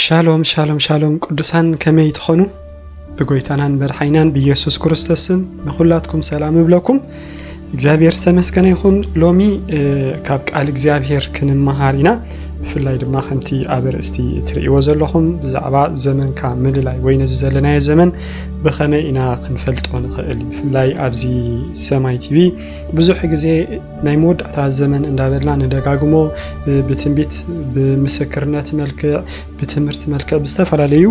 ሻሎም ሻሎም ሻሎም ቅዱሳን፣ ከመይ ትኾኑ? ብጎይታናን መድሓይናን ብኢየሱስ ክርስቶስ ስም ንኹላትኩም ሰላም እብለኩም። እግዚኣብሔር ዝተመስገነ ይኹን። ሎሚ ካብ ቃል እግዚኣብሔር ክንመሃር ኢና። ብፍላይ ድማ ከምቲ ኣብ ኣርእስቲ እትርእይዎ ዘለኹም ብዛዕባ ዘመንካ ምልላይ ወይ ነዚ ዘለናዮ ዘመን ብኸመይ ኢና ክንፈልጦ ንኽእል? ብፍላይ ኣብዚ ሰማይ ቲቪ ብዙሕ ግዜ ናይ መወዳእታ ዘመን እንዳበልና ንደጋግሞ፣ ብትንቢት፣ ብምስክርነት መልክዕ፣ ብትምህርቲ መልክዕ፣ ብዝተፈላለዩ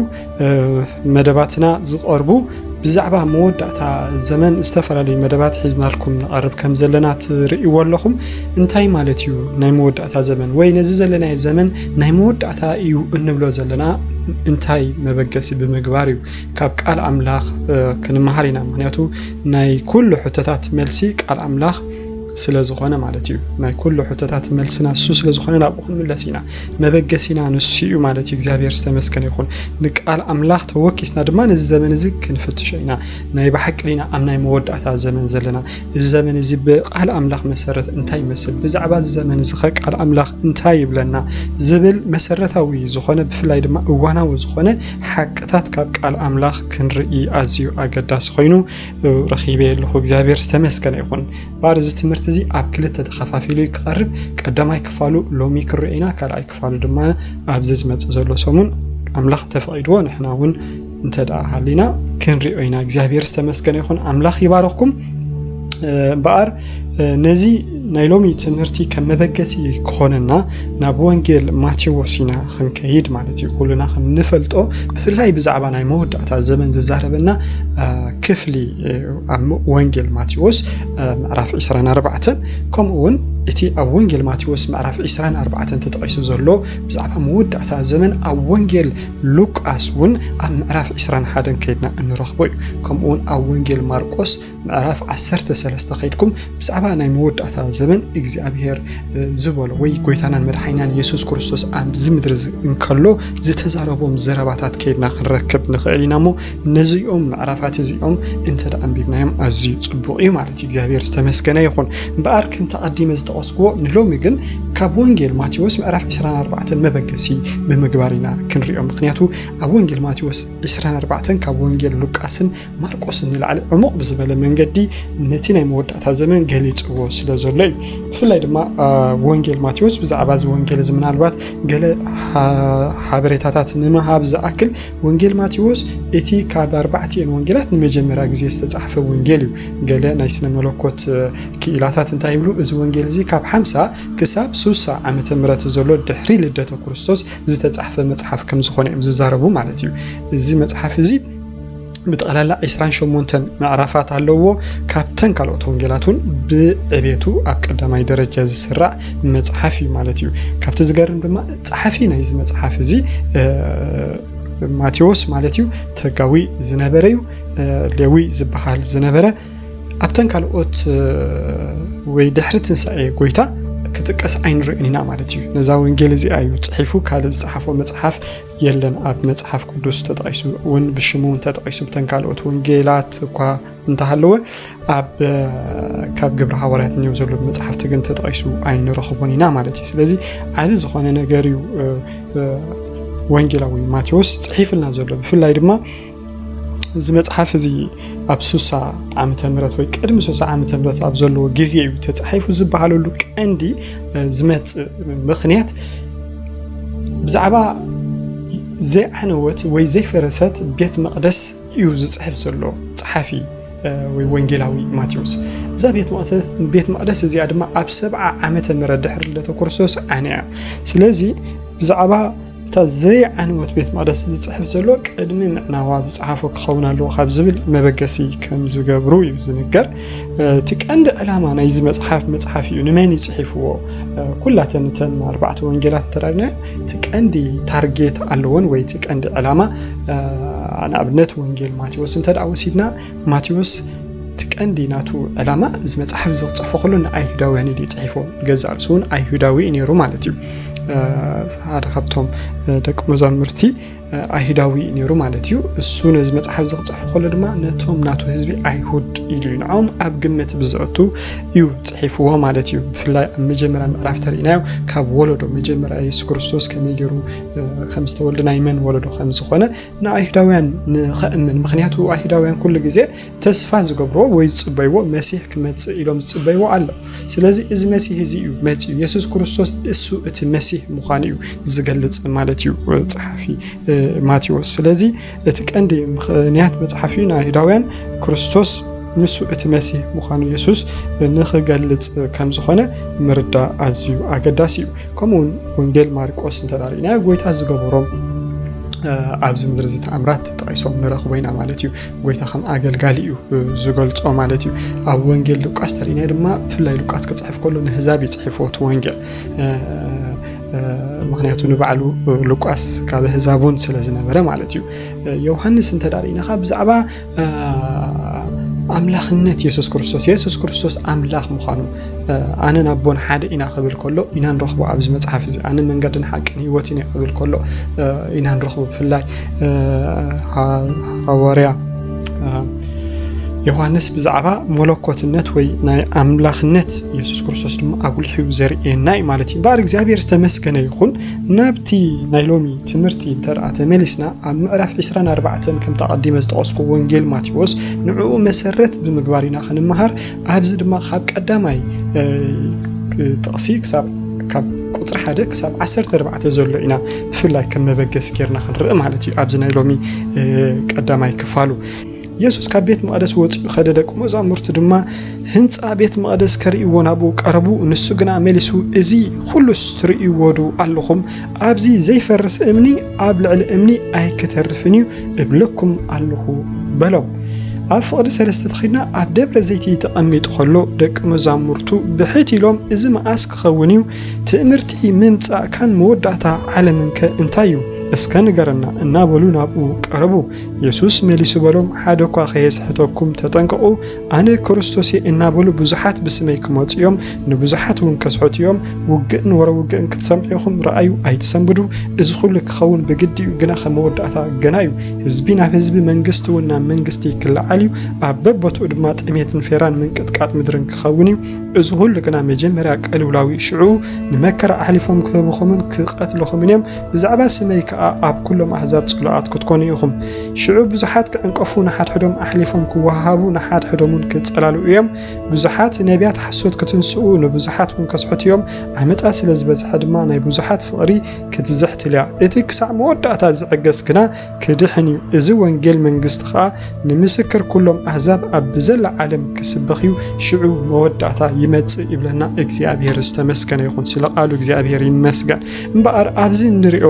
መደባትና ዝቐርቡ ብዛዕባ መወዳእታ ዘመን ዝተፈላለዩ መደባት ሒዝናልኩም ንቐርብ ከም ዘለና ትርእይዎ ኣለኹም። እንታይ ማለት እዩ ናይ መወዳእታ ዘመን ወይ ነዚ ዘለናዮ ዘመን ናይ መወዳእታ እዩ እንብሎ ዘለና እንታይ መበገሲ ብምግባር እዩ? ካብ ቃል ኣምላኽ ክንመሃር ኢና። ምክንያቱ ናይ ኩሉ ሕቶታት መልሲ ቃል ኣምላኽ ስለ ዝኾነ ማለት እዩ። ናይ ኩሉ ሕቶታት መልስና ንሱ ስለ ዝኾነ ናብኡ ክንምለስ ኢና። መበገሲና ንሱ እዩ ማለት እዩ። እግዚኣብሔር ዝተመስገነ ይኹን። ንቃል ኣምላኽ ተወኪስና ድማ ነዚ ዘመን እዚ ክንፍትሾ ኢና። ናይ ብሓቂ ዲና ኣብ ናይ መወዳእታ ዘመን ዘለና? እዚ ዘመን እዚ ብቃል ኣምላኽ መሰረት እንታይ ይመስል? ብዛዕባ እዚ ዘመን እዚ ኸ ቃል ኣምላኽ እንታይ ይብለና? ዝብል መሰረታዊ ዝኾነ፣ ብፍላይ ድማ እዋናዊ ዝኾነ ሓቅታት ካብ ቃል ኣምላኽ ክንርኢ ኣዝዩ ኣገዳሲ ኮይኑ ረኺበ ኣለኹ። እግዚኣብሔር ዝተመስገነ ይኹን። ባር እዚ ትምህርቲ እዚ ኣብ ክልተ ተኸፋፊሉ ክቐርብ፣ ቀዳማይ ክፋሉ ሎሚ ክርኦ ኢና፣ ካልኣይ ክፋሉ ድማ ኣብዚ ዝመጽእ ዘሎ ሰሙን ኣምላኽ እንተፈቒድዎ ንሕና እውን እንተ ደኣ ሃሊና ክንሪኦ ኢና። እግዚኣብሔር ዝተመስገነ ይኹን። ኣምላኽ ይባረኽኩም። እምበኣር ነዚ ናይ ሎሚ ትምህርቲ ከም መበገሲ ክኾነና ናብ ወንጌል ማቴዎስ ኢና ክንከይድ ማለት እዩ። ኩልና ከም ንፈልጦ ብፍላይ ብዛዕባ ናይ መወዳእታ ዘመን ዝዛረበና ክፍሊ ኣብ ወንጌል ማቴዎስ ምዕራፍ ዕስራን ኣርባዕተን፣ ከምኡ እውን እቲ ኣብ ወንጌል ማቴዎስ ምዕራፍ ዕስራን ኣርባዕተን ተጠቒሱ ዘሎ ብዛዕባ መወዳእታ ዘመን ኣብ ወንጌል ሉቃስ እውን ኣብ ምዕራፍ ዕስራን ሓደን ከይድና እንረኽቦ እዩ። ከምኡ እውን ኣብ ወንጌል ማርቆስ ምዕራፍ ዓሰርተ ሰለስተ ከይድኩም ብዛዕባ ናይ መወዳእታ ዘመን እግዚኣብሔር ዝበሎ ወይ ጎይታናን መድሓኒናን የሱስ ክርስቶስ ኣብዚ ምድሪ እንከሎ ዝተዛረቦም ዘረባታት ከይድና ክንረክብ ንኽእል ኢና። እሞ ነዚኦም ምዕራፋት እዚኦም እንተ ደኣ ኣንቢብናዮም ኣዝዩ ጽቡቕ እዩ ማለት እዩ። እግዚኣብሔር ዝተመስገነ ይኹን። እምበኣር ከምቲ ኣቐዲመ ዝጠቐስክዎ ንሎሚ ግን ካብ ወንጌል ማቴዎስ ምዕራፍ ዕስራን ኣርባዕተን መበገሲ ብምግባር ኢና ክንሪኦ። ምክንያቱ ኣብ ወንጌል ማቴዎስ ዕስራን ኣርባዕተን ካብ ወንጌል ሉቃስን ማርቆስን ንላዕሊ ዕሙቕ ብዝበለ መንገዲ ነቲ ናይ መወዳእታ ዘመን ገሊጽዎ ስለ ዘሎ እዩ። ብፍላይ ድማ ወንጌል ማቴዎስ፣ ብዛዕባ እዚ ወንጌል እዚ ምናልባት ገለ ሓበሬታታት ንምሃብ ዝኣክል፣ ወንጌል ማቴዎስ እቲ ካብ ኣርባዕቲኤን ወንጌላት ንመጀመርያ ግዜ ዝተጻሕፈ ወንጌል እዩ። ገለ ናይ ስነ መለኮት ክኢላታት እንታይ ይብሉ? እዚ ወንጌል እዚ ካብ ሓምሳ ክሳብ ሱሳ ዓመተ ምህረት ዘሎ ድሕሪ ልደተ ክርስቶስ ዝተጻሕፈ መጽሓፍ ከም ዝኾነ እዮም ዝዛረቡ ማለት እዩ። እዚ መጽሓፍ እዚ ብጠቕላላ ዕስራን ሸሞንተን ምዕራፋት ኣለዎ። ካብተን ካልኦት ወንጌላት እውን ብዕቤቱ ኣብ ቀዳማይ ደረጃ ዝስራዕ መጽሓፍ እዩ ማለት እዩ። ካብቲ ዝገርም ድማ ጸሓፊ ናይዚ መጽሓፍ እዚ ማቴዎስ ማለት እዩ፣ ተጋዊ ዝነበረ እዩ። ሌዊ ዝበሃል ዝነበረ ኣብተን ካልኦት ወይ ድሕሪ ትንሳኤ ጎይታ ክጥቀስ ኣይንርእን ኢና ማለት እዩ። ነዛ ወንጌል እዚኣ እዩ ጽሒፉ፣ ካልእ ዝጸሓፎ መጽሓፍ የለን። ኣብ መጽሓፍ ቅዱስ ተጠቒሱ እውን ብሽሙ እውን ተጠቒሱ ብተን ካልኦት ወንጌላት እኳ እንተሃለወ ኣብ ካብ ግብሪ ሃዋርያት እኒው ዘሎ መጽሓፍቲ ግን ተጠቒሱ ኣይንረኽቦን ኢና ማለት እዩ። ስለዚ ዓቢ ዝኾነ ነገር እዩ ወንጌላዊ ማቴዎስ ጽሒፍልና ዘሎ። ብፍላይ ድማ እዚ መጽሓፍ እዚ ኣብ ሱሳ ዓመተ ምህረት ወይ ቅድሚ ሱሳ ዓመተ ምህረት ኣብ ዘለዎ ግዜ እዩ ተጻሒፉ ዝበሃለሉ ቀንዲ ዝመጽእ ምኽንያት ብዛዕባ ዘይዓነወት ወይ ዘይፈረሰት ቤት መቕደስ እዩ ዝጽሕፍ ዘሎ ጸሓፊ ወይ ወንጌላዊ ማቴዎስ። እዛ ቤት መቕደስ እዚኣ ድማ ኣብ ሰብዓ ዓመተ ምህረት ድሕሪ ልደተ ክርስቶስ ዓንያ። ስለዚ ብዛዕባ እታ ዘይዓነወት ቤት መቕደስ ዝጽሕፍ ዘሎ ቅድሚ ምዕናዋ ዝጸሓፎ ክኸውን ኣለዎ ካብ ዝብል መበገሲ ከም ዝገብሩ እዩ ዝንገር። እቲ ቀንዲ ዕላማ ናይዚ መጽሓፍ መጽሓፍ እዩ። ንመን እዩ ጽሒፍዎ? ኩላተን እተን ኣርባዕተ ወንጌላት እንተዳልና እቲ ቀንዲ ታርጌት ኣለዎን ወይ እቲ ቀንዲ ዕላማ ንኣብነት ወንጌል ማቴዎስ እንተ ደኣ ወሲድና ማቴዎስ እቲ ቀንዲ ናቱ ዕላማ እዚ መጽሓፍ እዚ ክጽሕፎ ከሎ ንኣይሁዳውያን እዩ ጽሒፎ። ገዛእ ርእሱ እውን ኣይሁዳዊ እዩ ነይሩ ማለት እዩ። ሓደ ካብቶም ደቂ መዛሙርቲ ኣይሁዳዊ እዩ ነይሩ ማለት እዩ። እሱ ነዚ መጽሓፍ እዚ ክጽሕፍ ከሎ ድማ ነቶም ናቱ ህዝቢ ኣይሁድ ኢሉ እዩ ንዖም ኣብ ግምት ብዝእቱ እዩ ጽሒፍዎ ማለት እዩ። ብፍላይ ኣብ መጀመርያ ምዕራፍ ተርእናዮ ካብ ወለዶ መጀመርያ የሱስ ክርስቶስ ከመይ ገይሩ ከም ዝተወልደ ናይ መን ወለዶ ከም ዝኾነ ንኣይሁዳውያን ንኸእምን። ምክንያቱ ኣይሁዳውያን ኩሉ ግዜ ተስፋ ዝገብርዎ ወይ ዝጽበይዎ መሲሕ ክመጽእ ኢሎም ዝጽበይዎ ኣሎ። ስለዚ እዚ መሲሕ እዚ እዩ መጺኡ። የሱስ ክርስቶስ እሱ እቲ መሲሕ ምዃኑ እዩ ዝገልጽ ማለት እዩ ጸሓፊ ማቴዎስ። ስለዚ እቲ ቀንዲ ምኽንያት መጽሓፊ ንኣይሁዳውያን ክርስቶስ ንሱ እቲ መሲሕ ምዃኑ የሱስ ንኽገልጽ ከም ዝኾነ ምርዳእ ኣዝዩ ኣገዳሲ እዩ። ከምኡውን ወንጌል ማርቆስ እንተዳሪእናዮ ጎይታ ዝገበሮም ኣብዚ ምድሪ እዚ ተኣምራት ተጠቂሶም ንረኽቦ ኢና ማለት እዩ። ጎይታ ከም ኣገልጋሊ እዩ ዝገልጾ ማለት እዩ። ኣብ ወንጌል ሉቃስ ተርእናዮ ድማ ብፍላይ ሉቃስ ክጽሕፍ ከሎ ንህዛብ እዩ ጽሒፍዎ እቲ ወንጌል። ምክንያቱ ንባዕሉ ሉቃስ ካብ ህዛብ እውን ስለ ዝነበረ ማለት እዩ። ዮሃንስ እንተዳሪእናኻ ብዛዕባ ኣምላኽነት የሱስ ክርስቶስ የሱስ ክርስቶስ ኣምላኽ ምዃኑ ኣነን ኣቦን ሓደ ኢና ክብል ከሎ ኢና ንረኽቦ ኣብዚ መጽሓፍ እዚ። ኣነ መንገድን ሓቅን ህይወትን እየ ክብል ከሎ ኢና ንረኽቦ። ብፍላይ ሃዋርያ ዮሃንስ ብዛዕባ መለኮትነት ወይ ናይ ኣምላኽነት የሱስ ክርስቶስ ድማ ኣጉልሕዩ ዘርእየና እዩ ማለት እዩ። እምበኣር እግዚኣብሔር ዝተመስገነ ይኹን። ናብቲ ናይ ሎሚ ትምህርቲ እንተ ተመሊስና ኣብ ምዕራፍ ዕስራን ኣርባዕተን ከምቲ ኣቐዲመ ዝጠቐስኩ ወንጌል ማቴዎስ ንዕኡ መሰረት ብምግባር ኢና ክንመሃር። ኣብዚ ድማ ካብ ቀዳማይ ጥቕሲ ክሳብ ካብ ቁፅሪ ሓደ ክሳብ ዓሰርተ ኣርባዕተ ዘሎ ኢና ብፍላይ ከም መበገሲ ጌርና ክንርኢ ማለት እዩ። ኣብዚ ናይ ሎሚ ቀዳማይ ክፋሉ የሱስ ካብ ቤት መቕደስ ወፂኡ ኸደ፣ ደቂ መዛሙርቱ ድማ ህንፃ ቤት መቕደስ ከርእይዎ ናብኡ ቀረቡ። ንሱ ግና መሊሱ፣ እዚ ኩሉስ ትርእይዎ ዶ ኣለኹም? ኣብዚ ዘይፈርስ እምኒ ኣብ ልዕሊ እምኒ ኣይክተርፍን እዩ እብለኩም ኣለኹ በሎም። ኣብ ፍቕዲ ሰለስተ ተኺድና ኣብ ደብረ ዘይቲ ተቐሚጡ ኸሎ ደቂ መዛሙርቱ ብሕት ኢሎም፣ እዚ መኣስ ክኸውን እዩ? ትእምርቲ ምምጻእካን መወዳእታ ዓለምንከ እንታይ እዩ? እስከ ንገረና እናበሉ ናብኡ ቀረቡ። የሱስ መሊሱ በሎም፣ ሓደ እኳ ከየስሕተኩም ተጠንቀቑ። ኣነ ክርስቶስ እየ እናበሉ ብዙሓት ብስመይ ክመጹ እዮም፣ ንብዙሓት እውን ከስሕቱ እዮም። ውግእን ወረ ውግእን ክትሰምዑ ኢኹም፣ ረኣዩ ኣይትሰንብዱ። እዚ ኩሉ ክኸውን ብግዲ እዩ፣ ግና ከም መወዳእታ ገና እዩ። ህዝቢ ናብ ህዝቢ፣ መንግስቲ እውን ናብ መንግስቲ ክለዓል እዩ። ኣብ በቦትኡ ድማ ጥሜትን ፌራን ምንቅጥቃጥ ምድርን ክኸውን እዩ። እዚ ኩሉ ግና መጀመርያ ቀልውላው እዩ። ሽዑ ንመከራ ኣሕሊፎም ክህብኹምን ክቐትልኹምን እዮም። ብዛዕባ ስመይ ከኣ ኣብ ኩሎም ኣህዛብ ጽሉኣት ክትኮኑ ኢኹም። ሽዑ ብዙሓት ክዕንቀፉ፣ ንሓድሕዶም ኣሕሊፎም ክወሃሃቡ፣ ንሓድሕዶም እውን ክጸላልኡ እዮም። ብዙሓት ነቢያት ሓሶት ክትንስኡ፣ ንብዙሓት እውን ከስሕቱ እዮም። ዓመጻ ስለ ዝበዝሐ ድማ ናይ ብዙሓት ፍቕሪ ክትዝሕትል እያ። እቲ ክሳዕ መወዳእታ ዝዕገስ ግና ክድሕን እዩ። እዚ ወንጌል መንግስቲ ኸኣ ንምስክር ኩሎም ኣህዛብ ኣብ ብዘላ ዓለም ክስበኽ እዩ። ሽዑ መወዳእታ ይመጽእ ይብለና። እግዚኣብሔር ዝተመስገነ ይኹን። ስለ ቃሉ እግዚኣብሔር ይመስገን። እምበኣር ኣብዚ እንሪኦ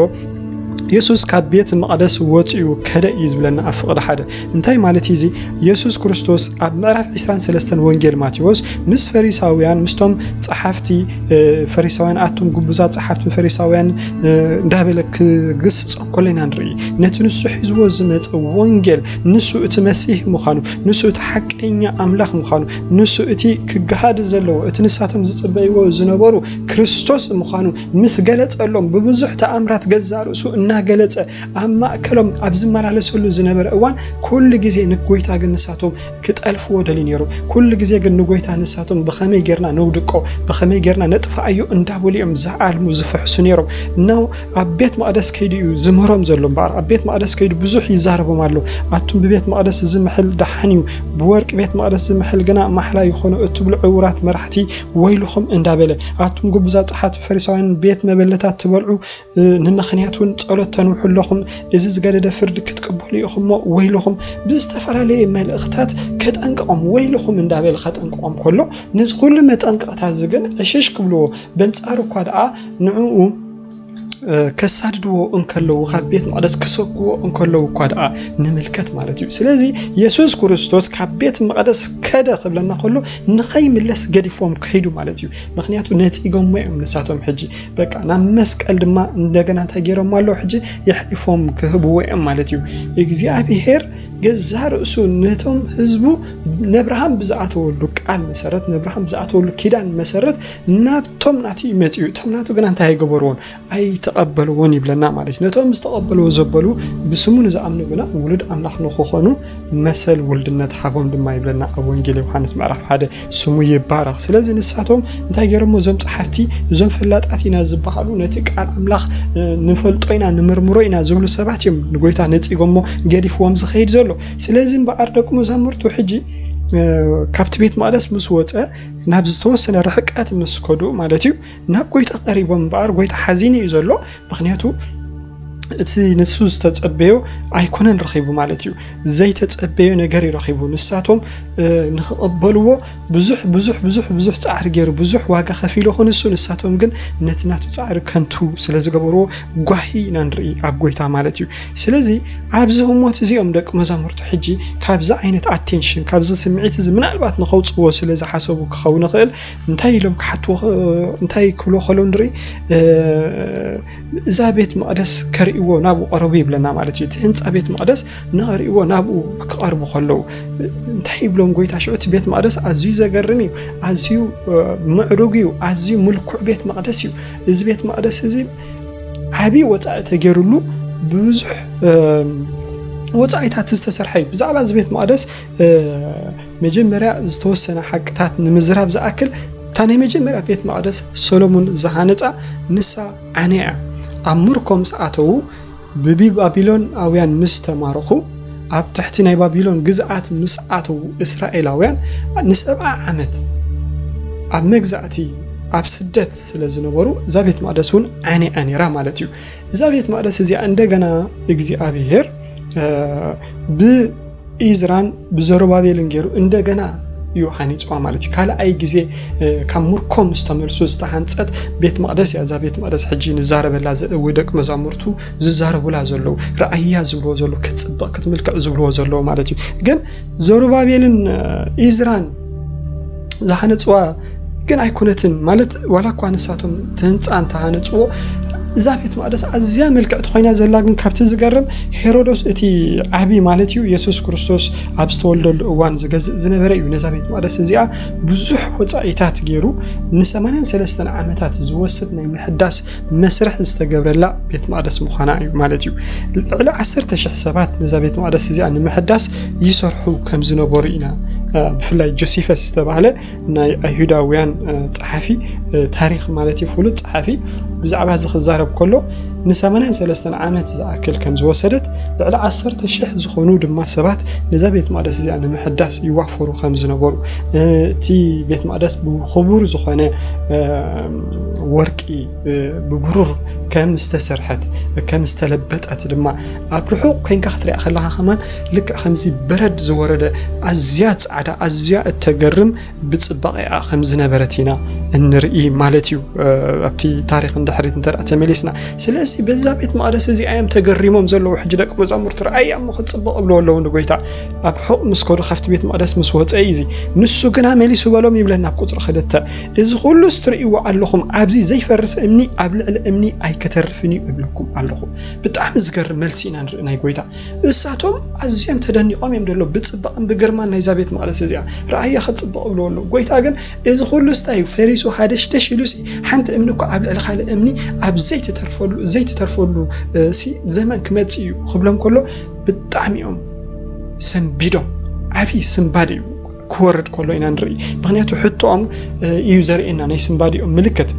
የሱስ ካብ ቤት መቕደስ ወፂኡ ከደ እዩ ዝብለና ኣብ ፍቕዲ ሓደ። እንታይ ማለት እዩ እዚ? የሱስ ክርስቶስ ኣብ ምዕራፍ ዕስራን ሰለስተን ወንጌል ማቴዎስ ምስ ፈሪሳውያን፣ ምስቶም ጸሓፍቲ፣ እ፣ ፈሪሳውያን፣ ኣቱም ግቡዛት ጸሓፍትን ፈሪሳውያን፣ እ፣ እንዳበለ ክግስጾም ከሎ ኢና ንርኢ። ነቲ ንሱ ሒዝዎ ዝመጸ ወንጌል፣ ንሱ እቲ መሲህ ምዃኑ፣ ንሱ እቲ ሓቀኛ ኣምላኽ ምዃኑ፣ ንሱ እቲ ክገሃድ ዘለዎ፣ እቲ ንሳቶም ዝጽበይዎ ዝነበሩ ክርስቶስ ምዃኑ ምስ ገለጸሎም፣ ብብዙሕ ተኣምራት ገዛእ ርእሱ እናገለጸ ኣብ ማእከሎም ኣብ ዝመላለሰሉ ዝነበረ እዋን፣ ኩሉ ግዜ ንጎይታ ግን ንሳቶም ክጠልፍዎ ደልዩ ነይሩ። ኩሉ ግዜ ግን ንጎይታ ንሳቶም ብኸመይ ጌርና ነውድቆ፣ ብኸመይ ጌርና ነጥፍኣዮ እንዳበሉ እዮም ዝዓልሙ ዝፍሕሱ ነይሮም። እነሆ ኣብ ቤት መቕደስ ከይዱ እዩ ዝምህሮም ዘሎ እምበኣር፣ ኣብ ቤት መቕደስ ከይዱ ብዙሕ ይዛረቦም ኣሎ። ኣቱም ብቤት መቕደስ ዝምሕል ደሓን እዩ፣ ብወርቂ ቤት መቕደስ ዝምሕል ግና ማሕላ ይኾኖ እትብሉ ዕዉራት መራሕቲ ወይልኹም እንዳበለ፣ ኣቱም ግቡዛት ጸሓፍቲ ፈሪሳውያን ቤት መበለታት ትበልዑ፣ እ፣ ንምኽንያት እውን ጸሎት ተንውሑ ኣለኹም። እዚ ዝገደደ ፍርዲ ክትቅበሉ ኢኹም እሞ ወይልኹም። ብዝተፈላለየ መልእኽታት ከጠንቅቖም፣ ወይልኹም እንዳበለ ከጠንቅቖም ከሎ፣ ነዚ ኩሉ መጠንቀቕታ እዚ ግን ዕሽሽ ክብልዎ፣ በንጻሩ እኳ ደኣ ንዕኡ ከሳድድዎ እንከለዉ፣ ካብ ቤት መቕደስ ክሰጉዎ እንከለዉ እኳ ደኣ ንምልከት ማለት እዩ። ስለዚ የሱስ ክርስቶስ ካብ ቤት መቕደስ ከደ ክብለና ከሎ ንኸይምለስ ገዲፎም ከይዱ ማለት እዩ። ምክንያቱ ነጺጎሞ እዮም ንሳቶም። ሕጂ በቃ ናብ መስቀል ድማ እንደገና እንታይ ገይሮም ኣለዉ? ሕጂ የሕሊፎም ክህብዎ እዮም ማለት እዩ። እግዚኣብሔር ገዛ ርእሱ ነቶም ህዝቡ ነብርሃም ብዝኣተወሉ ቃል መሰረት፣ ነብርሃም ብዝኣተወሉ ኪዳን መሰረት ናብቶም ናቱ ይመጽኡ። እቶም ናቱ ግና እንታይ ኣይገበርዎን? ኣይተቐበልዎን ይብለና ማለት እዩ። ነቶም ዝተቐበልዎ ዘበሉ ብስሙ ንዝኣምኑ ግና ውሉድ ኣምላኽ ንክኾኑ መሰል ውልድነት ሃቦም ድማ ይብለና ኣብ ወንጌል ዮሃንስ ምዕራፍ ሓደ። ስሙ ይባረኽ። ስለዚ ንሳቶም እንታይ ገይሮሞ? እዞም ጸሓፍቲ፣ እዞም ፈላጣት ኢና ዝበሃሉ፣ ነቲ ቃል ኣምላኽ ንፈልጦ ኢና፣ ንምርምሮ ኢና ዝብሉ ሰባት እዮም ንጎይታ ነጺጎሞ፣ ገዲፍዎም ዝኸይድ ዘሎ። ስለዚ እምበኣር ደቂ መዛሙርቱ ሕጂ ካብቲ ቤት መቕደስ ምስ ወጸ፣ ናብ ዝተወሰነ ርሕቀት ምስ ከዱ ማለት እዩ፣ ናብ ጎይታ ቀሪቦም እምበኣር ጎይታ ሓዚኑ እዩ ዘሎ። ምክንያቱ እቲ ንሱ ዝተጸበዮ ኣይኮነን ረኺቡ ማለት እዩ። ዘይተጸበዮ ነገር እዩ ረኺቡ። ንሳቶም ንክቐበልዎ ብዙሕ ብዙሕ ብዙሕ ብዙሕ ጻዕሪ ገይሩ፣ ብዙሕ ዋጋ ከፊሉ ይኹን እሱ፣ ንሳቶም ግን ነቲ ናቱ ጻዕሪ ከንቱ ስለ ዝገበርዎ ጓሂ ኢና ንርኢ ኣብ ጎይታ ማለት እዩ። ስለዚ ኣብዚ ህሞት እዚኦም ደቂ መዛሙርቱ ሕጂ ካብዚ ዓይነት ኣቴንሽን፣ ካብዚ ስምዒት እዚ ምናልባት ንኸውጽዎ ስለ ዝሓሰቡ ክኸውን ይኽእል። እንታይ ኢሎም ክሓትዎ፣ እንታይ ክብልዎ ከለዉ ንርኢ? እዛ ቤት መቕደስ ከርእይዎ ናብኡ ቀረቡ ይብለና ማለት እዩ። እቲ ህንጻ ቤት መቕደስ ንኸርእይዎ ናብኡ ክቐርቡ ከለዉ እንታይ ይብሎም ጎይታ? ሽዑ እቲ ቤት መቕደስ ኣዝዩ ዘገርም እዩ፣ ኣዝዩ ምዕሩግ እዩ፣ ኣዝዩ ምልኩዕ ቤት መቕደስ እዩ። እዚ ቤት መቕደስ እዚ ዓብዪ ወጻኢ ተገይሩሉ ብዙሕ ወጻኢታት ዝተሰርሐ እዩ። ብዛዕባ እዚ ቤት መቕደስ መጀመርያ ዝተወሰነ ሓቅታት ንምዝራብ ዝኣክል፣ እታ ናይ መጀመርያ ቤት መቕደስ ሰሎሞን ዝሃነጻ ንሳ ዓንያ እያ። ኣብ ምርኮ ምስ ኣተዉ፣ ብባቢሎናውያን ምስ ተማረኹ፣ ኣብ ትሕቲ ናይ ባቢሎን ግዝኣት ምስ ኣተዉ እስራኤላውያን ንሰብዓ ዓመት ኣብ መግዛእቲ ኣብ ስደት ስለ ዝነበሩ፣ እዛ ቤት መቕደስ እውን ዓንያ ነይራ ማለት እዩ። እዛ ቤት መቕደስ እዚኣ እንደገና እግዚኣብሔር ብኢዝራን ብዘሩባቤልን ገይሩ እንደገና እዩ ሃኒፅዋ ማለት እዩ። ካልኣይ ግዜ ካብ ምርኮ ምስ ተመልሱ ዝተሃንፀት ቤት መቕደስ እያ። እዛ ቤት መቕደስ ሕጂ ንዛረበላ ወይ ደቂ መዛሙርቱ ዝዛረቡላ ዘለዉ፣ ረኣያ ዝብልዎ ዘለዉ፣ ክትፅበቕ ክትምልክዕ ዝብልዎ ዘለዉ ማለት እዩ። ግን ዘሩባቤልን ኢዝራን ዝሃነፅዋ ግን ኣይኮነትን ማለት፣ ዋላ እኳ ንሳቶም እቲ ህንፃ እንተሃነፅዎ፣ እዛ ቤት መቕደስ ኣዝያ ምልክዕቲ ኮይና ዘላ ግን ካብቲ ዝገርም፣ ሄሮዶስ እቲ ዓቢ ማለት እዩ፣ የሱስ ክርስቶስ ኣብ ዝተወልደሉ እዋን ዝገዝእ ዝነበረ እዩ። ነዛ ቤት መቕደስ እዚኣ ብዙሕ ወፃኢታት ገይሩ ንሰማንያን ሰለስተን ዓመታት ዝወስድ ናይ ምሕዳስ መስርሕ ዝተገብረላ ቤት መቕደስ ምዃና እዩ ማለት እዩ። ልዕሊ ዓሰርተ ሽሕ ሰባት ነዛ ቤት መቕደስ እዚኣ ንምሕዳስ ይሰርሑ ከም ዝነበሩ ኢና። ብፍላይ ጆሲፈስ ዝተባህለ ናይ ኣይሁዳውያን ጸሓፊ ታሪኽ ማለት እዩ፣ ፍሉጥ ጸሓፊ፣ ብዛዕባ እዚ ክዛረብ ከሎ ንሰማንያን ሰለስተን ዓመት ዝኣክል ከም ዝወሰደት፣ ልዕሊ ዓሰርተ ሽሕ ዝኾኑ ድማ ሰባት ነዛ ቤት መቕደስ እዚኣ ንምሕዳስ ይዋፈሩ ከም ዝነበሩ፣ እቲ ቤት መቕደስ ብኽቡር ዝኾነ ወርቂ፣ ብብሩር ከም ዝተሰርሐት፣ ከም ዝተለበጠት ድማ ኣብ ርሑቕ ኮይንካ ክትሪኣ ከለኻ ከማን ልክዕ ከምዚ በረድ ዝወረደ ኣዝያ ጻዕዳ፣ ኣዝያ እተገርም ብጽባቐኣ ከም ዝነበረት ኢና እንርኢ ማለት እዩ። ኣብቲ ታሪኽ ንድሕሪት እንተ ደኣ ተመሊስና፣ ስለዚ በዛ ቤት መቕደስ እዚኣ እዮም ተገሪሞም ዘለዉ። ሕጂ ደቂ መዛሙርቲ ረኣያ እሞ ክትጽብቕ እብልዎ ኣለዉ ንጎይታ። ኣብ ርሑቕ ምስ ከዱ፣ ካብቲ ቤት መቕደስ ምስ ወጸ እዩ እዚ። ንሱ ግና መሊሱ በሎም ይብለና ኣብ ቁጽሪ ክልተ፣ እዚ ኩሉስ ትርእይዎ ኣለኹም፣ ኣብዚ ዘይፈርስ እምኒ ኣብ ልዕሊ እምኒ ኣይከተርፍን እዩ እብለኩም ኣለኹ። ብጣዕሚ ዝገርም መልሲ ኢና ንርኢ ናይ ጎይታ። እሳቶም ኣዝዮም ተደኒቖም እዮም ደሎ ብጽባቕን ብግርማን ናይዛ ቤት መቕደስ እዚኣ። ረኣያ ክትጽብቕ እብልዎ ኣለዉ። ጎይታ ግን እዚ ኩሉ ስታይ ፈሪሱ ሃደሽደሽ ኢሉ ሲ ሓንቲ እምኒ እኮ ኣብ ልዕሊ ካልእ እምኒ ኣብ ዘይትተርፈሉ፣ ዘይትተርፈሉ፣ እ፣ ሲ ዘመን ክመጽእ እዩ ክብሎም ከሎ ብጣዕሚ እዮም ሰንቢዶም። ዓብዪ ስንባድ እዩ ክወርድ ከሎ ኢና ንርኢ። ምኽንያቱ ሕቶኦም፣ እ፣ እዩ ዘርእየና ናይ ስንባዲኦም ምልክት።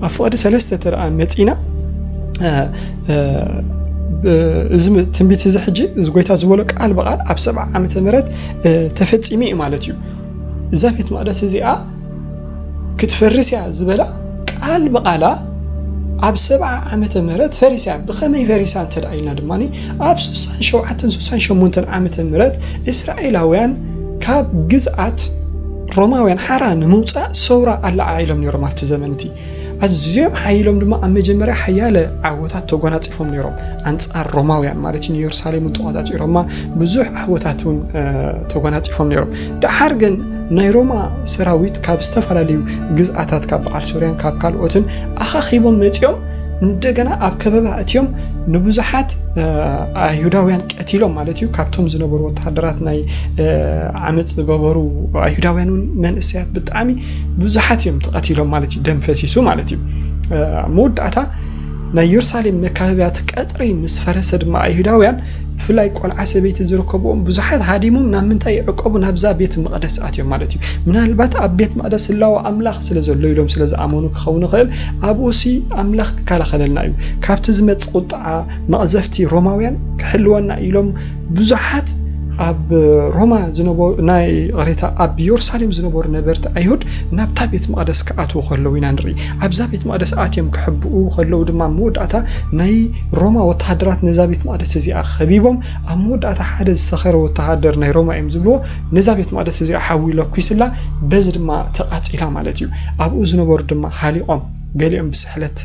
ኣብ ፍቕዲ ሰለስተ ተረኣ መጺና፣ እ፣ እ፣ ብ-፣ እዚ ም-፣ ትንቢት እዚ ሕጂ እዚ ጎይታ ዝበሎ ቃል ብቓል ኣብ ሰብዓ ዓመተ ምህረት፣ እ፣ ተፈጺሙ እዩ ማለት እዩ። እዛ ቤት መቕደስ እዚኣ ክትፈርስ እያ ዝበላ ቃል ብቓላ ኣብ ሰብዓ ዓመተ ምህረት ፈሪሳ እያ። ብኸመይ ፈሪሳ እንተ ደኣ ኢልና ድማ ኣብ ስሳን ሸውዓተን ስሳን ሸሞንተን ዓመተ ምህረት እስራኤላውያን ካብ ግዝኣት ሮማውያን ሓራ ንምውጻእ ሰውራ ኣለዓዒሎም ነይሮም ኣብቲ ዘመን እቲ። ኣዝዮም ሓይሎም ድማ ኣብ መጀመርያ ሓያለ ዓወታት ተጎናፂፎም ነይሮም ኣንፃር ሮማውያን ማለት እዩ። ንየሩሳሌም እውን ተቆፃፂሮማ ብዙሕ ዓወታት እውን ተጎናፂፎም ነይሮም። ደሓር ግን ናይ ሮማ ሰራዊት ካብ ዝተፈላለዩ ግዝኣታት ካብ በዓል ሶርያን ካብ ካልኦትን ኣኻኺቦም መፂኦም እንደገና ኣብ ከበባ እትዮም ንብዙሓት ኣይሁዳውያን ቀቲሎም ማለት እዩ። ካብቶም ዝነበሩ ወተሃደራት ናይ ዓመፅ ዝገበሩ ኣይሁዳውያን እውን መንእሰያት ብጣዕሚ ብዙሓት እዮም ተቐቲሎም ማለት እዩ። ደም ፈሲሱ ማለት እዩ። መወዳእታ ናይ የሩሳሌም መካበብያት ቀፅሪ ምስ ፈረሰ ድማ ኣይሁዳውያን ብፍላይ ቆልዓ ሰበይቲ ዝርከብዎም ብዙሓት ሃዲሞም ናብ ምንታይ ይዕቀቡ? ናብዛ ቤት መቕደስ ኣትዮም ማለት እዩ። ምናልባት ኣብ ቤት መቕደስ ህላወ ኣምላኽ ስለ ዘሎ ኢሎም ስለ ዝኣመኑ ክኸውን ይኽእል። ኣብኡ ሲ ኣምላኽ ክከላኸለልና እዩ፣ ካብቲ ዝመጽእ ቁጥዓ መቕዘፍቲ ሮማውያን ክሕልወና ኢሎም ብዙሓት ኣብ ሮማ ዝነበሩ ናይ ቅሬታ ኣብ የሩሳሌም ዝነበሩ ነበርቲ ኣይሁድ ናብታ ቤት መቕደስ ክኣትዉ ከለዉ ኢና ንርኢ። ኣብዛ ቤት መቕደስ ኣትዮም ክሕብኡ ከለዉ ድማ መወዳእታ ናይ ሮማ ወተሃደራት ነዛ ቤት መቕደስ እዚኣ ከቢቦም ኣብ መወዳእታ ሓደ ዝሰኸረ ወተሃደር ናይ ሮማ እዮም ዝብልዎ ነዛ ቤት መቕደስ እዚኣ ሓዊ ለኩስላ፣ በዚ ድማ ተቓጺላ ማለት እዩ። ኣብኡ ዝነበሩ ድማ ሃሊቖም፣ ገሊኦም ብስሕለት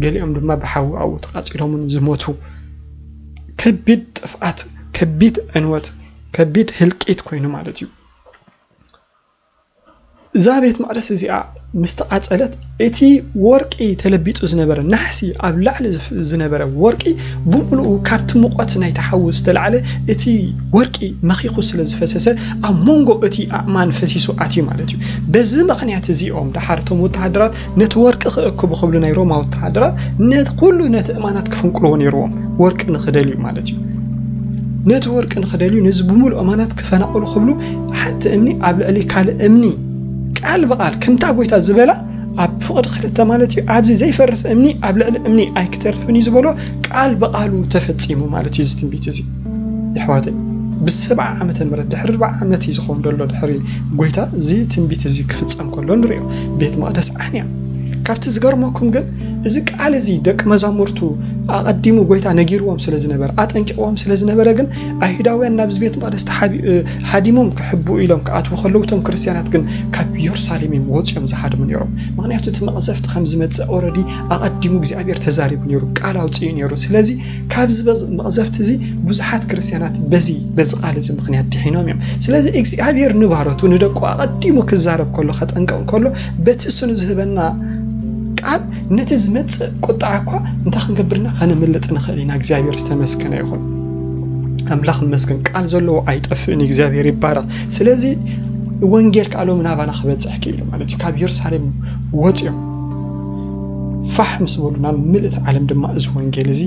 ገሊኦም ድማ ብሓዊ ኣብኡ ተቓጺሎምን ዝሞቱ። ከቢድ ጥፍኣት፣ ከቢድ ዕንወት፣ ከቢድ ህልቂት ኮይኑ ማለት እዩ። እዛ ቤት መቕደስ እዚኣ ምስ ተቓጸለት እቲ ወርቂ ተለቢጡ ዝነበረ ናሕሲ ኣብ ላዕሊ ዝፍ- ዝነበረ ወርቂ ብምሉኡ ካብቲ ሙቐት ናይቲ ሓዊ ዝተላዕለ እቲ ወርቂ መኺኹ ስለ ዝፈሰሰ ኣብ መንጎ እቲ ኣእማን ፈሲሱ ኣትዩ ማለት እዩ። በዚ ምኽንያት እዚኦም ደሓር እቶም ወተሃደራት ነቲ ወርቂ ክእክቡ ክብሉ ናይ ሮማ ወተሃደራት ነቲ ኩሉ ነቲ እማናት ክፍንቅልዎ ነይርዎም ወርቂ ንኽደልዩ ማለት እዩ። ነቲ ወርቂ ንኽደልዩ ነዚ ብምሉእ እማናት ክፈናቕሉ ክብሉ ሓንቲ እምኒ ኣብ ልዕሊ ካልእ እምኒ ቃል ብቓል ከምታ ጎይታ ዝበላ ኣብ ፍቕዲ ክልተ ማለት እዩ። ኣብዚ ዘይፈርስ እምኒ ኣብ ልዕሊ እምኒ ኣይክተርፍን እዩ ዝበሎ ቃል ብቓሉ ተፈጺሙ ማለት እዩ። እዚ ትንቢት እዚ የሕዋተይ ብሰብዓ ዓመተ ምህረት ድሕሪ ኣርባዓ ዓመት እዩ ዝኸውን ዘሎ ድሕሪ ጎይታ እዚ ትንቢት እዚ ክፍጸም ከሎ ንሪኦ። ቤት መቕደስ ዓንያ። ካብቲ ዝገርመኩም ግን እዚ ቃል እዚ ደቂ መዛሙርቱ ኣቐዲሙ ጎይታ ነጊርዎም ስለ ዝነበረ ኣጠንቂቕዎም ስለ ዝነበረ ግን ኣይሁዳውያን ናብዚ ቤት መቕደስ ተሓቢ- እ፣ ሃዲሞም ክሕብኡ ኢሎም ክኣትዉ ከለዉ እቶም ክርስትያናት ግን ካብ የሩሳሌም እዮም ወፂኦም ዝሃድሙ ነይሮም። ምክንያቱ እቲ መቕዘፍቲ ከም ዝመፅእ ኦረዲ ኣቐዲሙ እግዚኣብሔር ተዛሪቡ ነይሩ፣ ቃል ኣውፅኡ ነይሩ። ስለዚ ካብዚ በዝ- መቕዘፍቲ እዚ ብዙሓት ክርስትያናት በዚ በዚ ቃል እዚ ምክንያት ድሒኖም እዮም። ስለዚ እግዚኣብሔር ንባሮቱ ንደቁ ኣቐዲሙ ክዛረብ ከሎ ከጠንቅቕ ከሎ በቲ እሱ ንዝህበና ቃል ነቲ ዝመጽእ ቁጥዓ እኳ እንታይ ክንገብርና ከነምልጥ ንኽእል ኢና። እግዚኣብሔር ዝተመስገነ ይኹን። ኣምላኽ ይመስገን። ቃል ዘለዎ ኣይጠፍእን እዩ። እግዚኣብሔር ይባረኽ። ስለዚ ወንጌል ከዓ ሎሚ ናባና ክበጽሕ ክኢሉ ማለት እዩ። ካብ የሩሳሌም ወፂኦም ፋሕ ምስ በሉ ናብ ምልእቲ ዓለም ድማ እዚ ወንጌል እዚ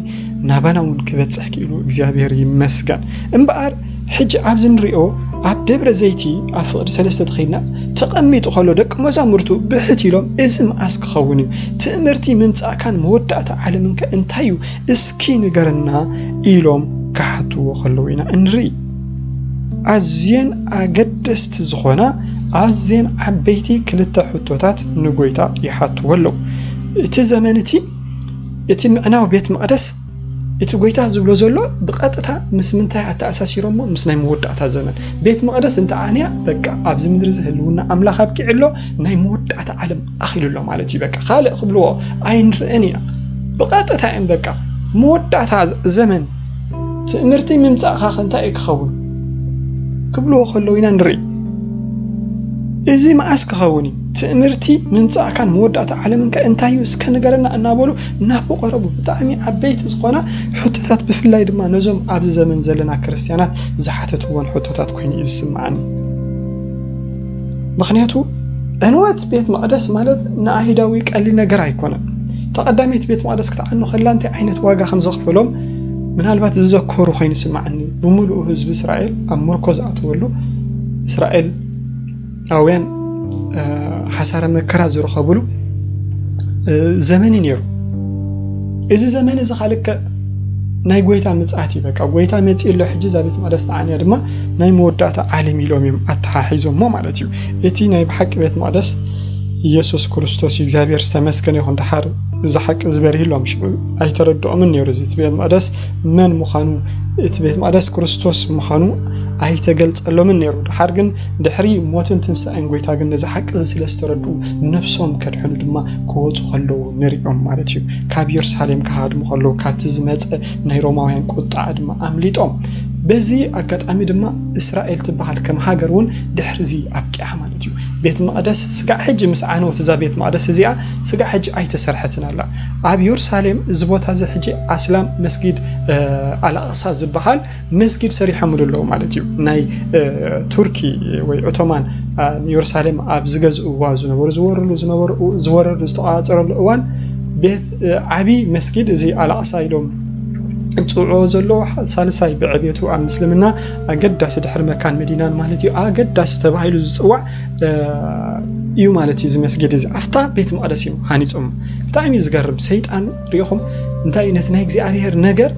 ናባና እውን ክበጽሕ ክኢሉ እግዚኣብሔር ይመስገን። እምበኣር ሕጂ ኣብዚ ንሪኦ ኣብ ደብረ ዘይቲ ኣብ ፍቕዲ ሰለስተ ተኸይድና ተቐሚጡ ከሎ ደቂ መዛሙርቱ ብሕት ኢሎም እዚ መዓስ ክኸውን እዩ? ትእምርቲ ምምጻእካን መወዳእታ ዓለምንከ እንታይ እዩ? እስኪ ንገረና ኢሎም ክሓትዎ ከለዉ ኢና እንርኢ። ኣዝየን ኣገደስቲ ዝኾና ኣዝየን ዓበይቲ ክልተ ሕቶታት ንጎይታ ይሓትዎ ኣለዉ። እቲ ዘመን እቲ እቲ ምዕናው ቤት መቕደስ እቲ ጎይታ ዝብሎ ዘሎ ብቐጥታ ምስ ምንታይ ኣተኣሳሲሮሞ? ምስ ናይ መወዳእታ ዘመን። ቤት መቕደስ እንተ ዓንያ በቃ ኣብዚ ምድሪ እዚ ህልውና ኣምላኽ ኣብቂዑ ኣሎ፣ ናይ መወዳእታ ዓለም ኣኺሉ ኣሎ ማለት እዩ። በቃ ካልእ ክብልዎ ኣይንርእን ኢና። ብቐጥታ እዮም በቃ መወዳእታ ዘመን ትእምርቲ ምምጻእኻ ከ እንታይ እዩ ክኸውን ክብልዎ ከለዉ ኢና ንርኢ። እዚ መዓስ ክኸውን እዩ? ትእምርቲ ምምጻእካን መወዳእታ ዓለምንከ እንታይ እዩ እስከ ንገረና እናበሉ እናፈቐረቡ ብጣዕሚ ዓበይቲ ዝኾና ሕቶታት ብፍላይ ድማ ነዞም ኣብዚ ዘመን ዘለና ክርስትያናት ዝሓተትዎን ሕቶታት ኮይኑ እዩ ዝስምዓኒ። ምኽንያቱ ዕንወት ቤት መቕደስ ማለት ንኣይሁዳዊ ቀሊል ነገር ኣይኮነን። ተቐዳሚት ቤት መቕደስ ክትዓኑ ከላ እንታይ ዓይነት ዋጋ ከም ዘኽፈሎም ምናልባት ዝዘከሩ ኮይኑ ይስምዓኒ። ብምሉኡ ህዝቢ እስራኤል ኣብ ምርኮ ዝኣተወሉ እስራኤላውያን ሓሳረ መከራ ዝረኸብሉ ዘመን እዩ ነይሩ። እዚ ዘመን እዚ ካልክዕ ናይ ጎይታ ምጽኣት እዩ። በቃ ጎይታ መጺኡ ኣሎ፣ ሕጂ እዛ ቤት መቕደስ ተዓንያ ድማ ናይ መወዳእታ ዓለም ኢሎም እዮም ኣተሓሒዞሞ ማለት እዩ። እቲ ናይ ብሓቂ ቤት መቕደስ ኢየሱስ ክርስቶስ እዩ። እግዚኣብሔር ዝተመስገነ ይኹን። ደሓር እዚ ሓቂ ዝበርህሎም ሽዑ ኣይተረድኦምን ነይሩ። እዚ እቲ ቤት መቕደስ መን ምዃኑ፣ እቲ ቤት መቕደስ ክርስቶስ ምዃኑ ኣይተገልጸሎምን ነይሩ። ድሓር ግን ድሕሪ ሞትን ትንሳኤን ጎይታ ግን ነዚ ሓቂ እዚ ስለ ዝተረድኡ ነፍሶም ከድሕኑ ድማ ክወጹ ከለዉ ንሪኦም ማለት እዩ። ካብ የሩሳሌም ክሃድሙ ከለዉ ካብቲ ዝመጸ ናይ ሮማውያን ቁጣዕ ድማ ኣምሊጦም። በዚ ኣጋጣሚ ድማ እስራኤል ትበሃል ከም ሃገር እውን ድሕሪ እዚ ኣብቂዓ ማለት እዩ። ቤት መቕደስ ስጋዕ ሕጂ ምስ ዓነወት እዛ ቤት መቕደስ እዚኣ ስጋዕ ሕጂ ኣይተሰርሐትን ኣላ። ኣብ የሩሳሌም እዚ ቦታ እዚ ሕጂ ኣስላም መስጊድ ኣልኣቕሳ ዝበሃል መስጊድ ሰሪሖምሉ ኣለዉ ማለት እዩ። ናይ ቱርኪ ወይ ኦቶማን ንየሩሳሌም ኣብ ዝገዝእዋ ዝነበሩ ዝወርሉ ዝነበሩ ዝወረሩ ዝተቋጸረሉ እዋን ቤት ዓቢ መስጊድ እዚ ኣልኣቕሳ ኢሎም ዝጽውዕዎ ዘለዉ ሳልሳይ ብዕቤቱ ኣብ ምስልምና ኣገዳሲ ድሕሪ መካን መዲናን ማለት እዩ ኣገዳሲ ተባሂሉ ዝጽዋዕ እዩ ማለት እዩ። እዚ መስጊድ እዚ ኣብታ ቤት መቕደስ እዮም ሃኒጾም። ብጣዕሚ እዩ ዝገርም። ሰይጣን ሪኢኹም እንታይ እዩ ነቲ ናይ እግዚኣብሔር ነገር